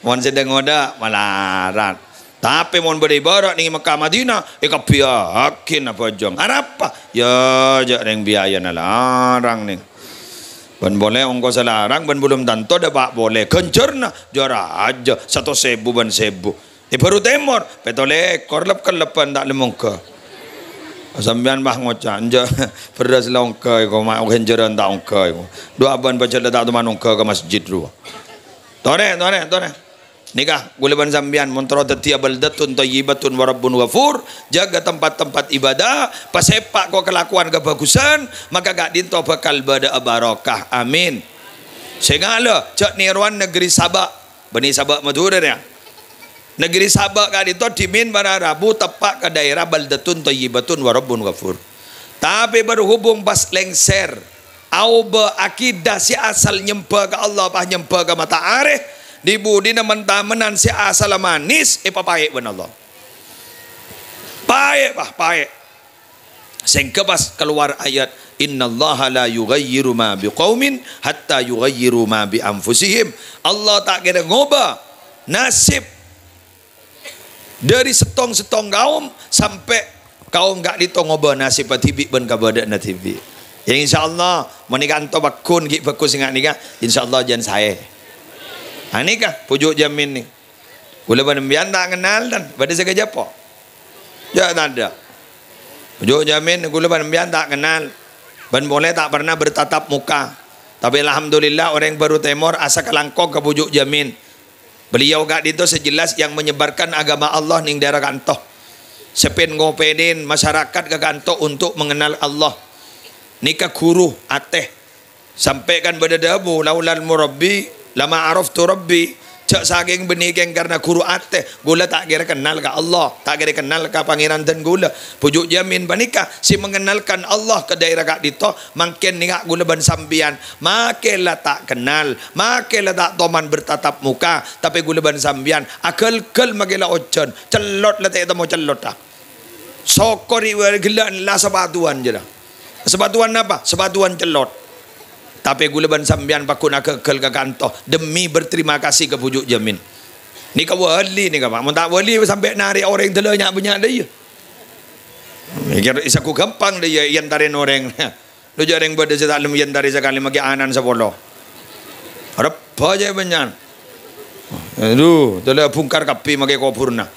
Mon sè dâ' ngodâ malarat. Tapè mon bâdâ è bârâ' neng è Mekkah Madinah, èkabbhiyâghi abhâjâng. Arapa? Yâ, jhâ' rèng biayana larang, neng. Bân polè ongkossa larang, bân belum tanto dâpa' polè. Ghânjhârna, jâ rajâ, satos èbu bân sèbu. È Baru Tèmor, pètto lèkor lep-kellebbhân ta' lem ongghâ. Sampèyan, wah, ngoca', "Enjâ', bherrâs la ongghâ èko, ma' ghânjhârân ta' ongghâ èko. Dhu abân pajhât la ta' toman ongghâ ka masjid rowa." Torè, torè, torè. Nèka, ghulâ bân sampèyan, mon terro dhâddhiyâ baldatun thayyibatun wa rabbun ghafur, jâgâ tempat-tempat ibadah, pasèpa' ko kalakowan kabhâghusân, maka ka'dinto bhâkal bâdâ'â barokah. Amin. Sènga' la, jhâ' nèrowan negeri Saba. Bânnè Saba' Madhurâ rèya. Negeri Saba' ka'dinto dhimèn para rabu teppa' ka daerah baldatun thayyibatun wa rabbun ghafur. Tapè berhubung pas lengser, aobâ akidah sè asal nyembhâ ka Allah, pas nyembhâ ka matahari, di-budina men-tamenan sè asalla manis, èpapaè' bân Allah. Paè', pas, paè'. Sèngghâ pas kalowar ayat, "Innallaha la yughayyiru ma biqaumin hatta yughayyiru ma bi anfusihim." Allah ta' kèra ngobâ nasib dhâri sèttong-sèttong kaum sampè' kaum ka'dinto ngobâ nasibbhâ dhibi' bân kabâdâ'ânna dhibi'. Ya, insyaallah, mon nèka anto pagghun ghi' bhâghus sènga' nèka, insyaallah jhân saè. Nah, nèka, Bhuju' Jamin nè. Ghulâ bân sampèyan ta' kennal, tan? Bâdâ sè kajhâpo? Jhâ' tadâ'. Bhuju' Jamin, ghulâ bân sampèyan ta' kennal. Bân polè ta' pernah bertatap muka. Tapè alhamdulillah, orèng Baru Tèmor asakalangkong ka Bhuju' Jamin. Beliau ka'dinto sè jelas yang menyebarkan agama Allah neng daerah ka'anto. Sè pèn-ngopènèn masyarakat ka ka'anto untuk mengenal Allah. Nèka ghuru atè. Sampè' kan bâdâ dhâbu, "Laulal murabbi, lama araftu rabbi." Jhâ' sakèng bânnè kèng karna ghuru atè, ghulâ ta' kèra kennal ka Allah, ta' kèra kennal ka Pangèran dân ghulâ. Bhuju' Jamin panèka sè mengenalkan Allah ka daerah ka'dinto, mangkèn nèka ghulâ bân sampèyan, makè la ta' kennal, makè la ta' toman bertatap muka, tapè ghulâ bân sampèyan aghâl-ghâl makè la ojhân, cellot la ta' ètemmo cellot, ah. Sokor è ghellâ' la sapatuwan, jârèya. Sapatuwan napa? Sapatuwan cellot. Tapè ghulâ bân sampèyan pagghun aghâghâl ka ka'anto demi berterima kasih ka Bhuju' Jamin. Nèka wali nèka, Pak. Mon ta' wali sampè' narè' orèng dâlâ nya'-bânnya' dâ' iyâ. Mikir èsaghu ghâmpang dâ' iyâ, èyantarè orèng. Lo jhâ' rèng bâdâ sè ta' lem èyantarè sakalè makè ana'na sapolo. Rebbhâ jhâ' bânnya'an. Adu, tella bungkar kabbhi makè kobhurrâ.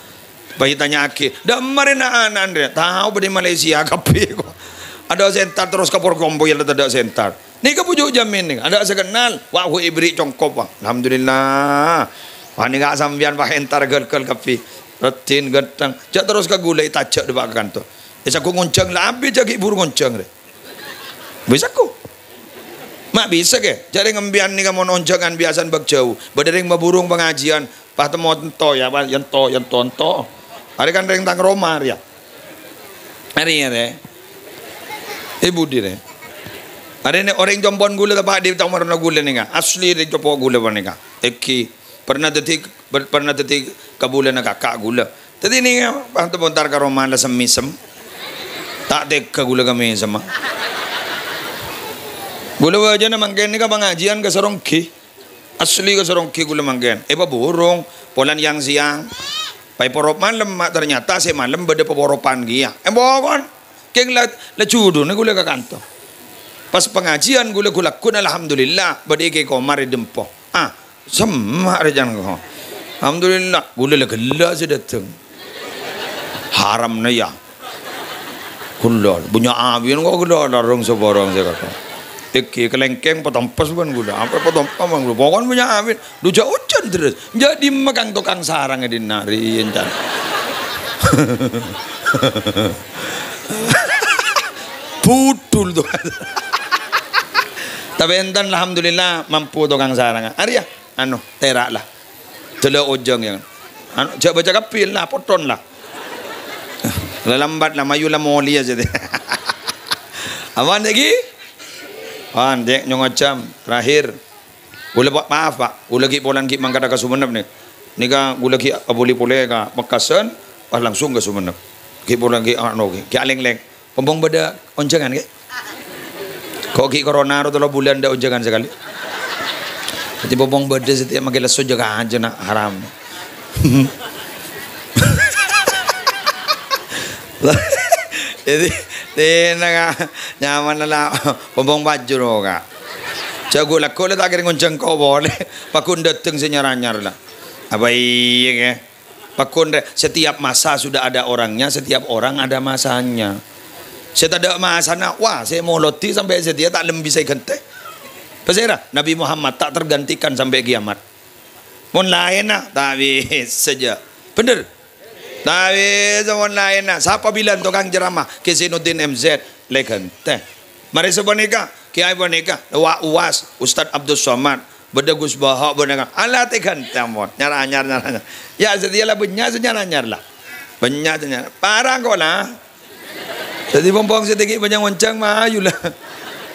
Pas ètanya'aghi, "Dâ' emma rèya na'-ana'na rèya?" "Tao, bâdâ è Malaysia kabbhi ko'." Adâ' sè entar terros ka Porkompoy la tadâ' sè entar. Nèka Bhuju' Jamin nèka, adâ' sè kennal. Wa' hu èbherri' congkop, wa'. Alhamdulillah. Wa' nèka sampèyan, wa' entar ghâl-ghâl kabbhi. Raddhin, ghântheng. Jhâ' terros ka ghulâ ètajhâ' dâpa' ka kanto. Èsaghu ngonjhâng la abit jhâ' ghi' bhuru ngonjhâng rè. Bisa ko. Ma' bisa kè? Jhâ' rèng sampèyan nèka mon onjhângan biyasana bâk jhâu. Bâdâ rèng maburung pangajiân, pas temmo ento ya, pas ento, ento, ento. Arè kan rèng tang roma rèya. Arè ya, rè. È budi rè. Arè nè orèng compo'na ghulâ teppa' di compo'na ghulâ nèka. Asli rèng compo' ghulâ panèka. Èngghi. Pernah dhâddhi, per-, pernah dhâddhi kabulâna kaka' ghulâ. Dhâddhi nèka, pas temmo entar ka roma la sem-mèsem. Ta' tegghâ ghulâ ka mèsemma. Ghulâ bâjâna mangkèn nèka pangajiân ka Saronggi. Asli ka Saronggi ghulâ mangkèn. Èpaburung, polana yang-sèyang. Pas èporop malem, ma' ternyata sè malem bâdâ paporopan kèya. Èpokon, kèng la, la juduna ghulâ ka kanto. Pas pangajiân ghulâ ghu-lagghu, alhamdulillah, bâdâ Kè Komar è Dempo. Ah, Semma' rè can ko. Alhamdulillah, ghulâ la ghellâ' sè dâteng. Haramna ya. Ghulâ, bânnya' awèn ko' ghulâ, larung saporong sè kaka'. Èngghi kalèngkèng patompes bân ghulâ. Apa patompes bân ghulâ? Pokokna bânnya' awèn. Dhu jhâ' ojhân terros. Jhâ' dimma kang tokang sarang è dinna' rè èncan. Budul to. Tapè enten, alhamdulillah, mampu tokang sarangnga. Arèya, anu, tèra' la. Dâlâ ojhâng ya. Anu, jhâ' bâca kabbhi la, pothon la. La lambat la, mayu la molèya sè. Aman lagi? Aman, Dek, nyongo jam terakhir. Ghulâ, Pak, maaf, Pak. Ghulâ ghi' polana ghi' mangkadhâ ka Sumenep, nè. Nèka ghulâ ghi' abâli polè ka Mekkasân, pas langsung ka Sumenep. Ghi' polè ghi' ano ghi', ghi' alèng-lèng. Pong-pong bâdâ onjhângan, ghi'? Ko' ghi' corona ro tello bulân dâ' onjhângan sakalè. Dhâddhi pong-pong bâdâ satèya maskè lesso jâgâ ajâ, na', haram. Dhâddhi, tenang, ah. Nyaman la, pong-pong pajhur, Ka'. Jhâ' ghu'-lagghu' la ta' kèra ngonjhâng ko' polè. Pagghun dâteng sè nyar-anyar la. Apa iyâ, Ka'? Pagghun rè, setiap masa sudah ada orangnya, setiap orang ada masanya. Sè tadâ' masana, wah, sè molodi sampè' satèya ta' lem bisa èghântè. Pasèra? Nabi Muhammad ta' tergantikan sampè' kiamat. Mon laènna, ta' bisa jâ. Bhender? Ta' bisa mon laènna. Sapa bilân tokang ceramah? Kè Zainuddin M Z. Lè ghântè. Marè sapanèka, kèyaè panèka, Wa' Uwas, Ustadz Abdus Somad, bâdâ Gus Baha', bâdâ ka-, ala tè ghântè mon. Nyar-anyar, nyar-anyar. Yâ, satèya la bânnya' sè nyar-anyar la. Bânnya' sè nyar. Parang ko' la. Dhâddhi pong-pong sè tèngghi bânnya' ngonjhâng, mayu la.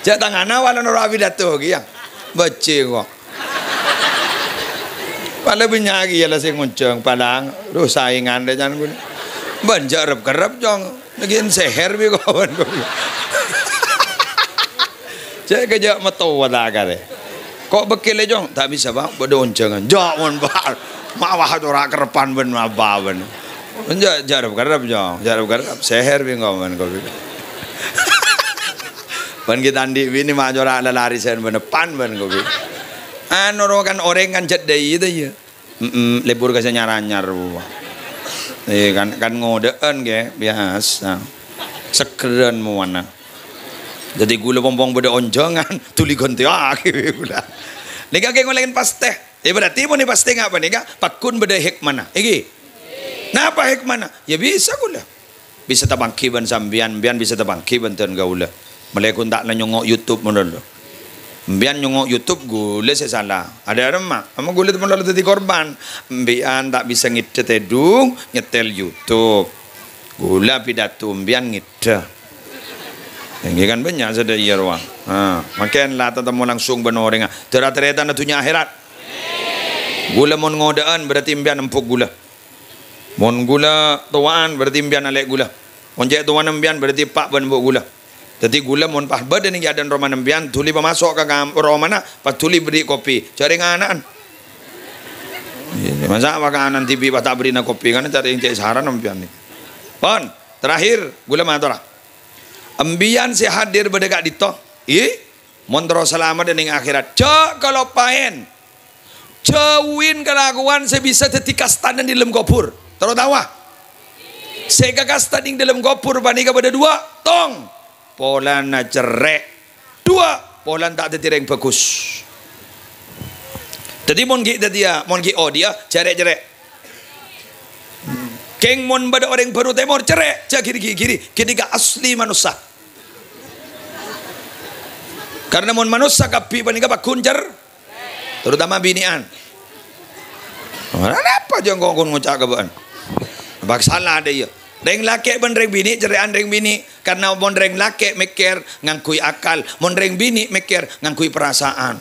Jhâ' tangana wala noro' apidato kèya. Bâjhi ko'. Pala bânnya' kèya la sè ngonjhâng, palang. Duh, saèngan rè can ghulâ. Bân jhâ' rep-kerrep, Cong. Lagi sèhèr bi' ko' bân ghulâ. Jhâ' kèya jhâ' mattowa ta' karè. Ko' bâkkèlè, Cong? Ta' bisa, Pak. Bâdâ onjhângan. Jhâ' mon, Pak. Ma' wah cora' kerrepan bân ma' bâbân. Jhâ', jhâ' rep-kerrep, Cong. Jhâ' rep-kerrep. Sèhèr bi' ko' bân ghulâ. Bân kita andi' binè ma' cora' lalarèsan bân pan bân ghulâ. Anu, ro kan orèng kan jhât dâi, ta' iyâ? Mm-mm, lebur ka sè nyar-anyar. Eh, kan, kan ngodâ'ân, ghi, biyasa. Segghârân mowana. Dhâddhi ghulâ pong-pong bâdâ onjhângan, dhuli ghântèyaghi ghulâ. Nèka kè ngolè'è pastè. Eh, berarti mon pastè nga' panèka, pagghun bâdâ hikmana. Èngghi? Napa hikmana? Yâ bisa ghulâ. Bisa tapangghi bân sampèyan, sampèyan bisa tapangghi bân dân kaulâ. Malè ghun ta' nyongngo' YouTube mon lo. Sampèyan nyongngo' YouTube, ghulâ sè sala. Adâ' remma, ama ghulâ mon lo dhâddhi korban. Sampèyan ta' bisa ngèdhâ tèdung, nyetèl YouTube. Ghulâ pidato, sampèyan ngèdhâ. Èngghi kan bânnya' sadhâjâ rowa. Ha, mangkèn la tatemmo langsung bân orèngnga. Dâ' ra-tarètanna dhunnya akhèrat. Ghulâ mon ngodâ'ân, berarti sampèyan empuk ghulâ. Mon ghulâ towa'an, berarti sampèyan alè' ghulâ. Mon cè' towana sampèyan, berarti eppa' bân embu' ghulâ. Dhâddhi ghulâ mon pas bâdâ nèng è adâ'na romana sampèyan, dhuli pamaso' ka kam-, romana, pas dhuli bherri' kopi. Jhâ' rèng ana'na. Iyâ, masa' makanan dhibi' pas ta' bherri'na kopi, kan carè cè' sarana sampèyan nèka. Pon, terakhir, ghulâ matora. Sampèyan sè hadir bâdâ ka'dinto. Iyâ. Mon terro salamet è nèng akhèrat, jhâ' kaloppaèn. Jhâuwi kalakowan sè bisa dhâddhi kastana è dâlem kobhur. Terro taowa? Sè èkakasta è dâlem kobhur panèka bâdâ duwâ', tong. Polana cerrè'. Duwâ', polana ta' dhâddhi rèng bhâghus. Dhâddhi mon ghi' dhâddhiyâ, mon ghi' odi'â, jhâ' rè'-cerrè'. Kèng mon bâdâ orèng Bhâru Tèmor, cerrè', jhâ' ghiri-ghiri. Ghânèka asli manossa. Karna mon manossa kabbhi panèka pagghun cer-, terutama binè'an. Napa jhâ' engko' ghun ngoca' ka bâ'na? Bâk sala dâ' iyâ. Rèng lakè' bân rèng binè' cerrè'an rèng binè'. Karna mon rèng lakè' mèkkèr ngangghuy akal, mon rèng binè' mèkkèr ngangghuy parasaan.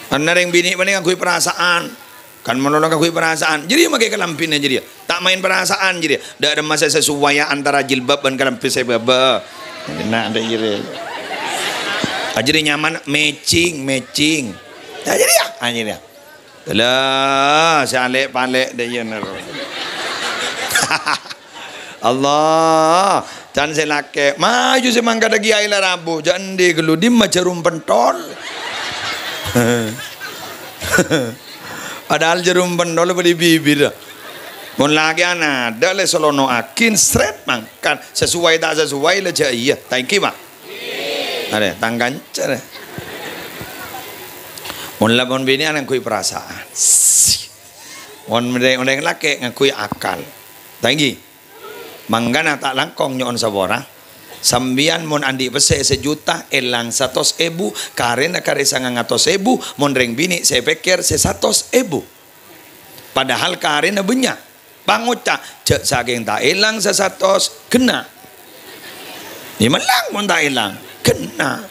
Karna rèng binè' panè ngangghuy parasaan. Kan mon lo ngangghuy parasaan, jârèya makè kalambhina jârèya. Ta' maèn parasaan jârèya. Dâ' remma sè sasowaya antara jilbab bân kalambhi sè bâbâ. Nah, dâ' jârèya. Ah, jârèya nyaman, matching, matching. Nah, jârèya, ah, jârèya. Lah, sè alè'-palè' dâ' iyâ nèro. Allah, can sè lakè', maju sè mangkadhâ kèyaè la rabu, jhâ' endi ghâllu, dimma jhârum pentol. Padahal jhârum pentol bâdâ è bibir. Mon lakè'an adâ' lè salono'aghi, srèt mangkat. Sasoway ta' sasoway la jhâ' iyâ. Ta' ènggi, Pak? Arè, tang kanca, rè. Mon la mon binè'an ngangghuy parasaan. Mon rèng, rèng lakè' ngangghuy akal. Ta' ènggi? Mangkana ta' langkong nyo'on sapora. Sampèyan mon andi' pèssè sajuta, èlang satos èbu, karèna karè sangang atos èbu, mon rèng binè' sè pèkkèr sè satos èbu. Padahal karèna bânnya'. Pangoca', jhâ' sakèng ta' èlang sasatos, ghenna'. Yâ mellang mon ta' èlang, ghenna'.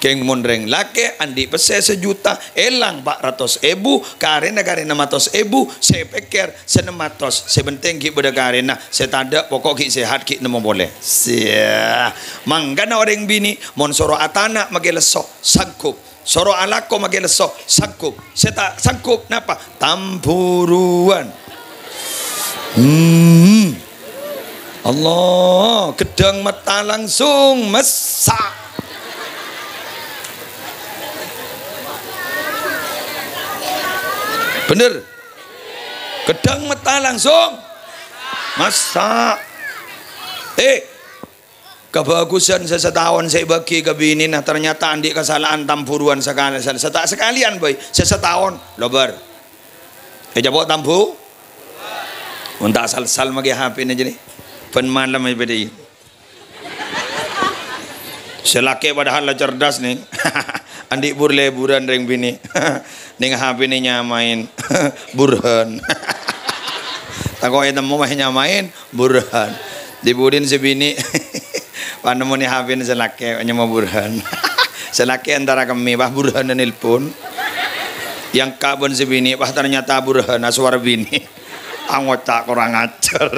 Kèng mon rèng lakè' andi' pèssè sajuta, èlang pa' ratos èbu, karèna karè nem atos èbu, sè pèkkèr sè nem atos, sè pentèng ghi' bâdâ karèna, sè tadâ' pokok ghi' sehat ghi' nemmo polè. Siya. Mangkana orèng binè' mon soro atana' makè lesso, sanggup. Soro alako makè lesso, sanggup. Sè ta' sanggup napa? Tamburuwân. Hmm. Allah, ghâddhâng metta langsung messa'. Bhender. Ghâddhâng metta langsung messa'. Eh, kabhâghusân sè sataon sè èbâghi ka binèna, ternyata andi' kasala'an tamburuwân sakal-, sè ta' sakalèyan bhâi, sè sataon, lobâr. Ècapo' tambu-, mon ta' sal-sal makè H P-na jârèya. Bân malem è bâdâ. Sè lakè' padahal la cerdas, nèng. Andi' bur-lèburân rèng binè'. Nèng H P-na nyamaè Burhan. Tako' ètemmo mah nyamaè Burhan. Dibudin sè binè'. Pas nemmonè H P-na sè lakè', nyama Burhan. Sè lakè' entara kemmè, pas Burhan nelpon. Èangka' bân sè binè', pas ternyata Burhan, aswara binè'. Angoca' korang ajar.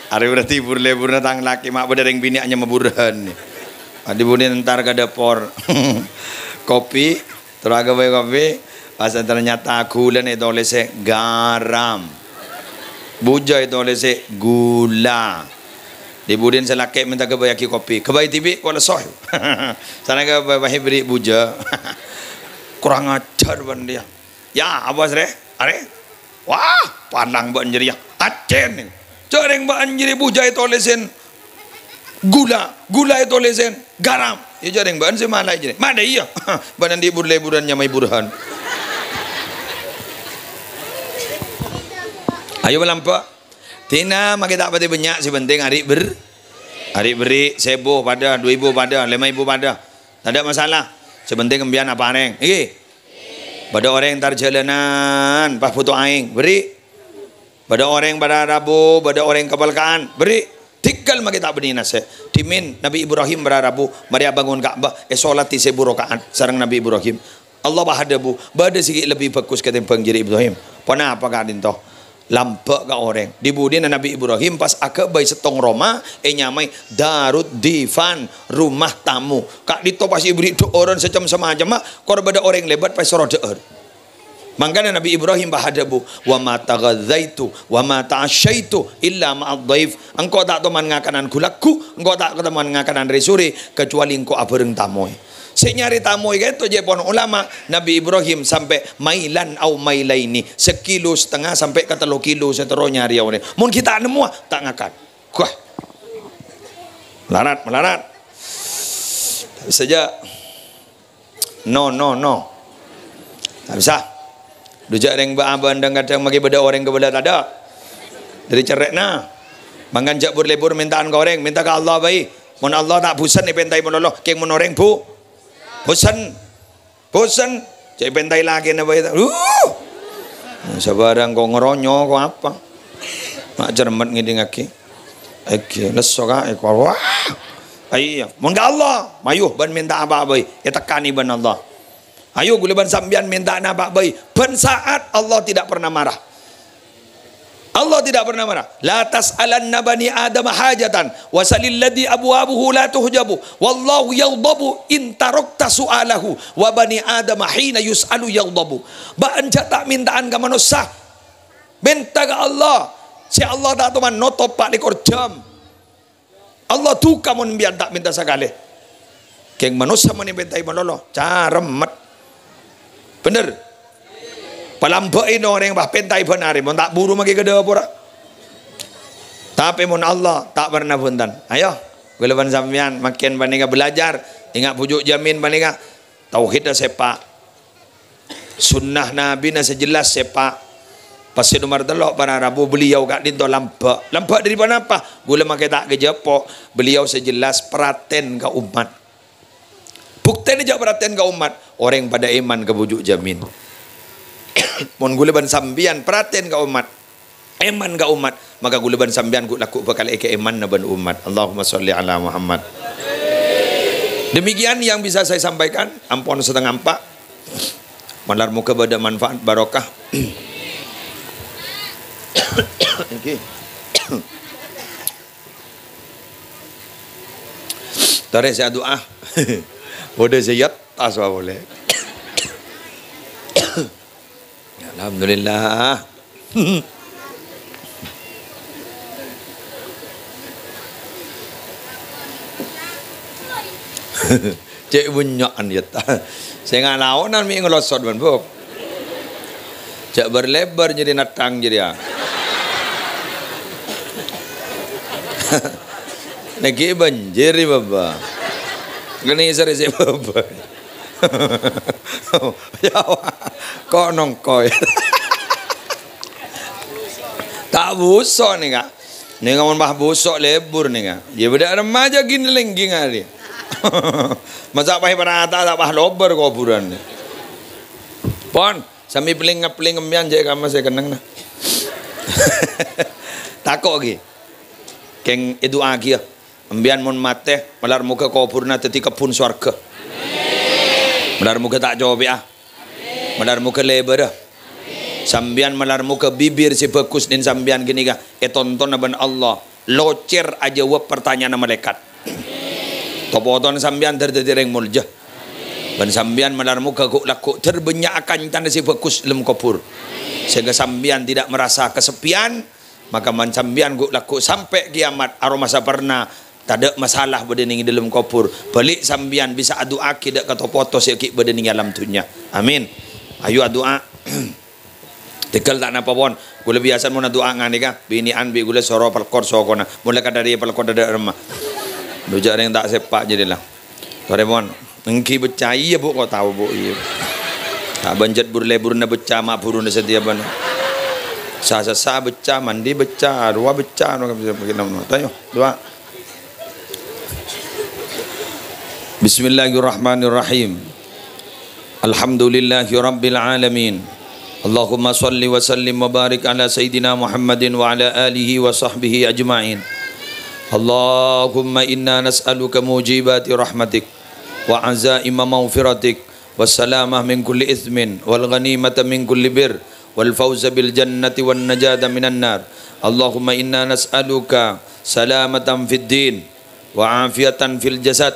Arè berarti bur-lèburna tang lakè', ma' bâdâ rèng binè' nyama Burhan. Pas dibudin entar ka dâpor. Kopi, terro aghâbây kopi, pas ternyata ghulâna ètolèsè garam. Bujâ ètolèsè gula. Dibudin sè lakè' mènta ghâbâyyaghi kopi. Ghâbây dhibi', kok lesso. Sana ghâbây, pas èberri' bujâ. Korang ajar bân dhiyâ. Ya, apa, Srè? Arè? Wah, panang bâ'na jârèya. Accèn. Jârèng bâ'na jârèya bujâ ètolèsè gula, gula ètolèsè garam. Ya, jârèng bâ'na sè malaè jârèya. Madâ iyâ. Bâ'na andi' bur-lèburân nyamaè Burhan. Ayo, malambâ'. Dina makè ta' patè bânnya', sè pentèng arè' ber-, arè' berri', sèbu padâ, du èbu padâ, lèma èbu padâ. Tadâ' masalah. Sè pentèng empèyan aparèng. Ènggi? Bâdâ orèng entar jhâlânan, pas bhuto aèng, berri'. Bâdâ orèng para rabu, bâdâ orèng kapèlka'an, berri'. Dhingghâl makè ta' bânnè nasè'. Dhimèn Nabbhi Ibrahim para rabu, marè abângon Ka'bah, èsolaè sèbu raka'at sareng Nabbhi Ibrahim. Allah pas adhâbu, "Bâdâ sè ghi' lebbi bhâghus katèmbhâng jârèya Ibrahim." "Ponapa ka'dinto?" "Lambâ' ka orèng." Dibudina Nabbhi Ibrahim pas aghâbây sèttong roma ènyamaè Darud Difan, rumah tamu. Ka'dinto pas èberri' dhâ'ârân sè cem-, samacemma, kor bâdâ orèng lèbât pas èsoro dhâ'âr. Mangkana Nabbhi Ibrahim pas adhâbu, "Wa ma taghadzaitu wa ma ta'asyaitu illa ma'adh dhaif." Engko' ta' toman ngakanan ghu-lagghu, engko' ta' toman ngakanan rè-sorè, kacuali engko' abhâreng tamoy. Sè nyarè tamoy ka'dinto jâ' pon ulama, Nabbhi Ibrahim sampè' mailan au mailaini, sakilo satengnga sampè' ka tello kilo sè terro nyarèya orèng. Mon ghi' ta' nemmowa, ta' ngakan. Wah. Malarat, malarat. Sajâ. No, no, no. Ta' bisa. Dujâ' rèng bâ-, abâ' dhâng-kadhâng maghi bâdâ orèng kabâlâ tadâ'. Dâri cerrè'na. Mangkana jâ' bur-lèbur mènta'an ka orèng, mènta ka Allah bhâi. Mon Allah ta' bhusen èpèntaè malolo, kèng mon orèng bu-, bhusen. Bhusen. Jâ' èpèntaè lakèna bhâi. Uh! Sabhârâng ko' ngeronyo ko' apa? Ma' cermet ngèdingngaghi. Èghi, lesso ka, èko-, wah. Aiyâ, mon ka Allah, mayu bân mènta apa bhâi, ètekkanè bân Allah. Ayo, ghulâ bân sampèyan mènta napa bhâi, bân saat Allah tidak pernah marah. Allah tidak pernah marah. "La tas'alanna bani Adam hajatan, wa salil ladzi abwabuhu la tuhjabu, wallahu yaghdabu in tarakta su'alahu, wa bani Adam hina yus'alu yaghdabu." Bâ'na jâ' ta' mènta'an ka manossa. Mènta ka Allah. Sè Allah ta' toman notop pa' lèkor jam. Allah duka mon sampèyan ta' mènta sakalè. Kèng manossa mon èpèntaè malolo, caremmet. Bhender? Palambâ'è no orèng pas pèntaè bân arè, mon ta' buru maghi ka dâpora. Tapè mon Allah, ta' pernah bhunten. Ayo, ghulâ bân sampèyan, makkèn panèka belajar. Enga' bhuju' jamin panèka. Tauhidda sèpa'. Sunnah Nabina sè jelas sèpa'. Pas sè nomer tello', para rabu, beliau ka'dinto lambâ'. Lambâ' dâri ponapa? Ghulâ makè ta' kajhâpo'. Beliau sè jelas pratèn ka ommat. Buktèna jâ' pratèn ka ommat. Orèng padâ èman ka bhuju' jamin. Mon ghulâ bân sampèyan pratèn ka ommat. Èman ka ommat, maka ghulâ bân sampèyan ghu'-, lagghu' bhâkal èkaèmanna bân ommat. Allahumma sholli ala Muhammad. Demikian yang bisa saya sampaikan, ampon setengah empat. Malar moga bâdâ manfaat barokah. Èngghi. Torè sè adu'a. Bâdâ sè yat, tas polè. Alhamdulillah. Cè' bânnya'an yâ, ta. Sè ngalaonan mè' ngelosot bân, Bu. Jhâ' bâr-lèbâr nyarè nattang jârèya. Nèghi bânjir, Bâbâ. Kènè' sèrè sè Bâbâ. Ya, ko' nongko, ya. Ta' buso' nèka. Nèka mon pas buso' lebur nèka. Ya, bâdâ remaja gini lenggi ngari. Masa pas parata, ta' pas lobâr koburan. Pon, sambi peling-peling embiyan jhâ' kamma sè kennengnga. Tako' ghi. Kèng èdu'aaghi, ya. Embiyan mon matè, malar moga koburna dhâddhi kebbhun sowarghâ. Malar moga ta' copè'a. Malar moga lèbârâ. Sambiyan malar moga bibir sè bhâghus nèng sambiyan ghânèka ètontona bân Allah. Locèr ajâwâb partanya'anna malaèkat. To-potona sambiyan dhâr dhâddhi rèng molja. Bân sambiyan malar moga ghu'-lagghu' dhâr bânnya' kancana sè bhâghus è dâlem kobhur. Sehingga sambiyan tidak merasa kesepian, Maka mon sambiyan ghu'-lagghu' sampè' kiyamat, aromasa pernah, tadâ' masalah bâdâ nèng è dâlem kobhur. Bâli' sambiyan bisa adu'aaghi dâ' ka to-poto sè ghi' bâdâ nèng è alam dhunnya. Amin. Ayo adu'a. Tèghâl ta' napa pon. Kaulâ biyasa mon adu'a nganèka, binè'an bi' kaulâ soro pelkor sokona. Molaè kadhâri pelkor dâ' remma. Dujâ rèng ta' sèpa' jârèya la. Torè pon. Èngghi beccâ, iyâ, Bu', ko' tao, Bu', iyâ. Ta' bânjhât bur-lèburna beccâ, ma' bhuruna satèya bân. Sa-sassa beccâ, mandi beccâ, arowa beccâ, no, no, no. Tayo, du'a. Bismillahirrahmanirrahim. Alhamdulillahirabbil alamin. Allahumma shalli wa sallim wa barik ala sayyidina Muhammadin wa ala alihi wa sahbihi ajma'in. Allahumma inna nas'aluka mujibati rahmatik, wa azaima maghfiratik, wa salamah min kulli itsmin, wal ghanimata min kulli bir, wal fauza bil jannati wan najata minan nar. Allahumma inna nas'aluka salamatan fid din, wa afiyatan fil jasad,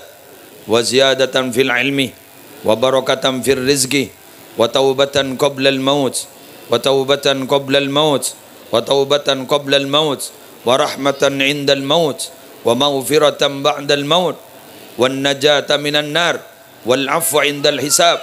wa ziyadatan fil ilmi, wa barakatan fir rizqi, wa taubatan qablal maut, wa taubatan qablal maut, wa taubatan qablal maut, wa rahmatan indal maut, wa maghfiratan ba'dal maut, wan najata minan nar, wal afwa indal hisab.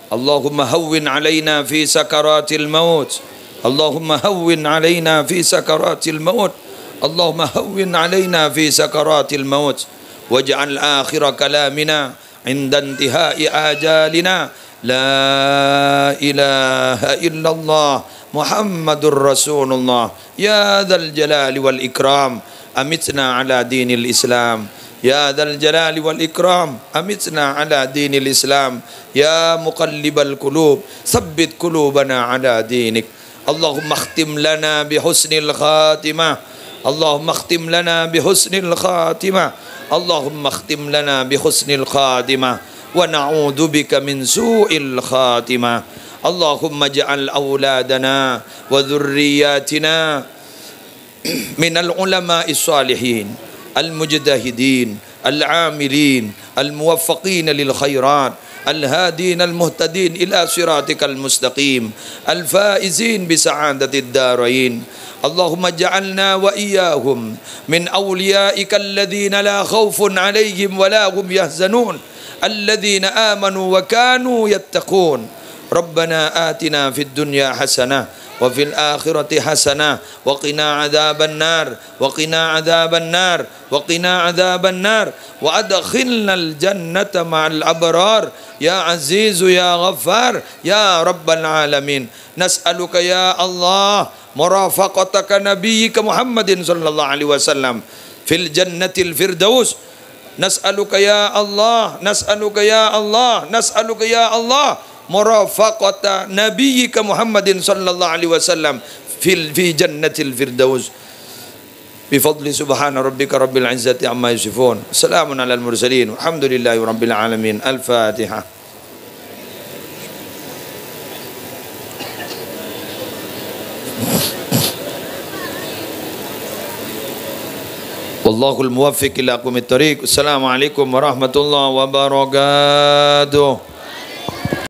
Allahumma hawwin alaina fi sakaratil maut. Allahumma hawwin alaina fi sakaratil maut. Allahumma hawwin alaina fi sakaratil maut. Waj'al akhira kalamina inda intihai ajalina, la ilaha illallah Muhammadur Rasulullah. Ya dzal jalali wal ikram, amitna ala dinil Islam. Ya dzal jalali wal ikram, amitna ala dinil Islam. Ya muqallibal qulub, tsabbit qulubana ala dinik. Allahumma khtim lana bi husnil khatimah. Allahumma khtim lana bi husnil khatimah. Allahumma khtim lana bi husnil khatimah. Wa na'udzubika min su'il khatimah. Allahumma ij'al auladana wa dzurriyyatina minal ulama'is shalihin, al mujtahidin, al amilin, al muwaffaqin lil khairat, al hadin al muhtadin ila siratikal mustaqim, al faizin bi sa'adatid darain. Allahumma ja'alna wa iyyahum min awliyaika alladhina la khaufun alaihim wa la hum yahzanun, alladhina amanu wa kanu yattaqun. Rabbana atina fid dunya hasanah wa fil akhirati hasanah wa qina adzaban nar, wa qina adzaban nar, wa qina adzaban nar, wa adkhilnal jannata ma'al abrar, ya Azizu ya Ghaffar, ya Rabbal alamin. Nas'aluka ya Allah murafaqataka nabiyyika Muhammadin sallallahu alaihi wasallam fil jannatil firdaus. Nas'aluka ya Allah, nas'aluka ya Allah, nas'aluka ya Allah murafaqata nabiyyika Muhammadin sallallahu alaihi wasallam fil, fi jannatil firdaus. بفضل سبحان ربك رب العزة عما يصفون. سلام على المرسلين. والحمد لله رب العالمين. الفاتحة. والله الموفق إلى أقوم الطريق. السلام عليكم ورحمة الله وبركاته.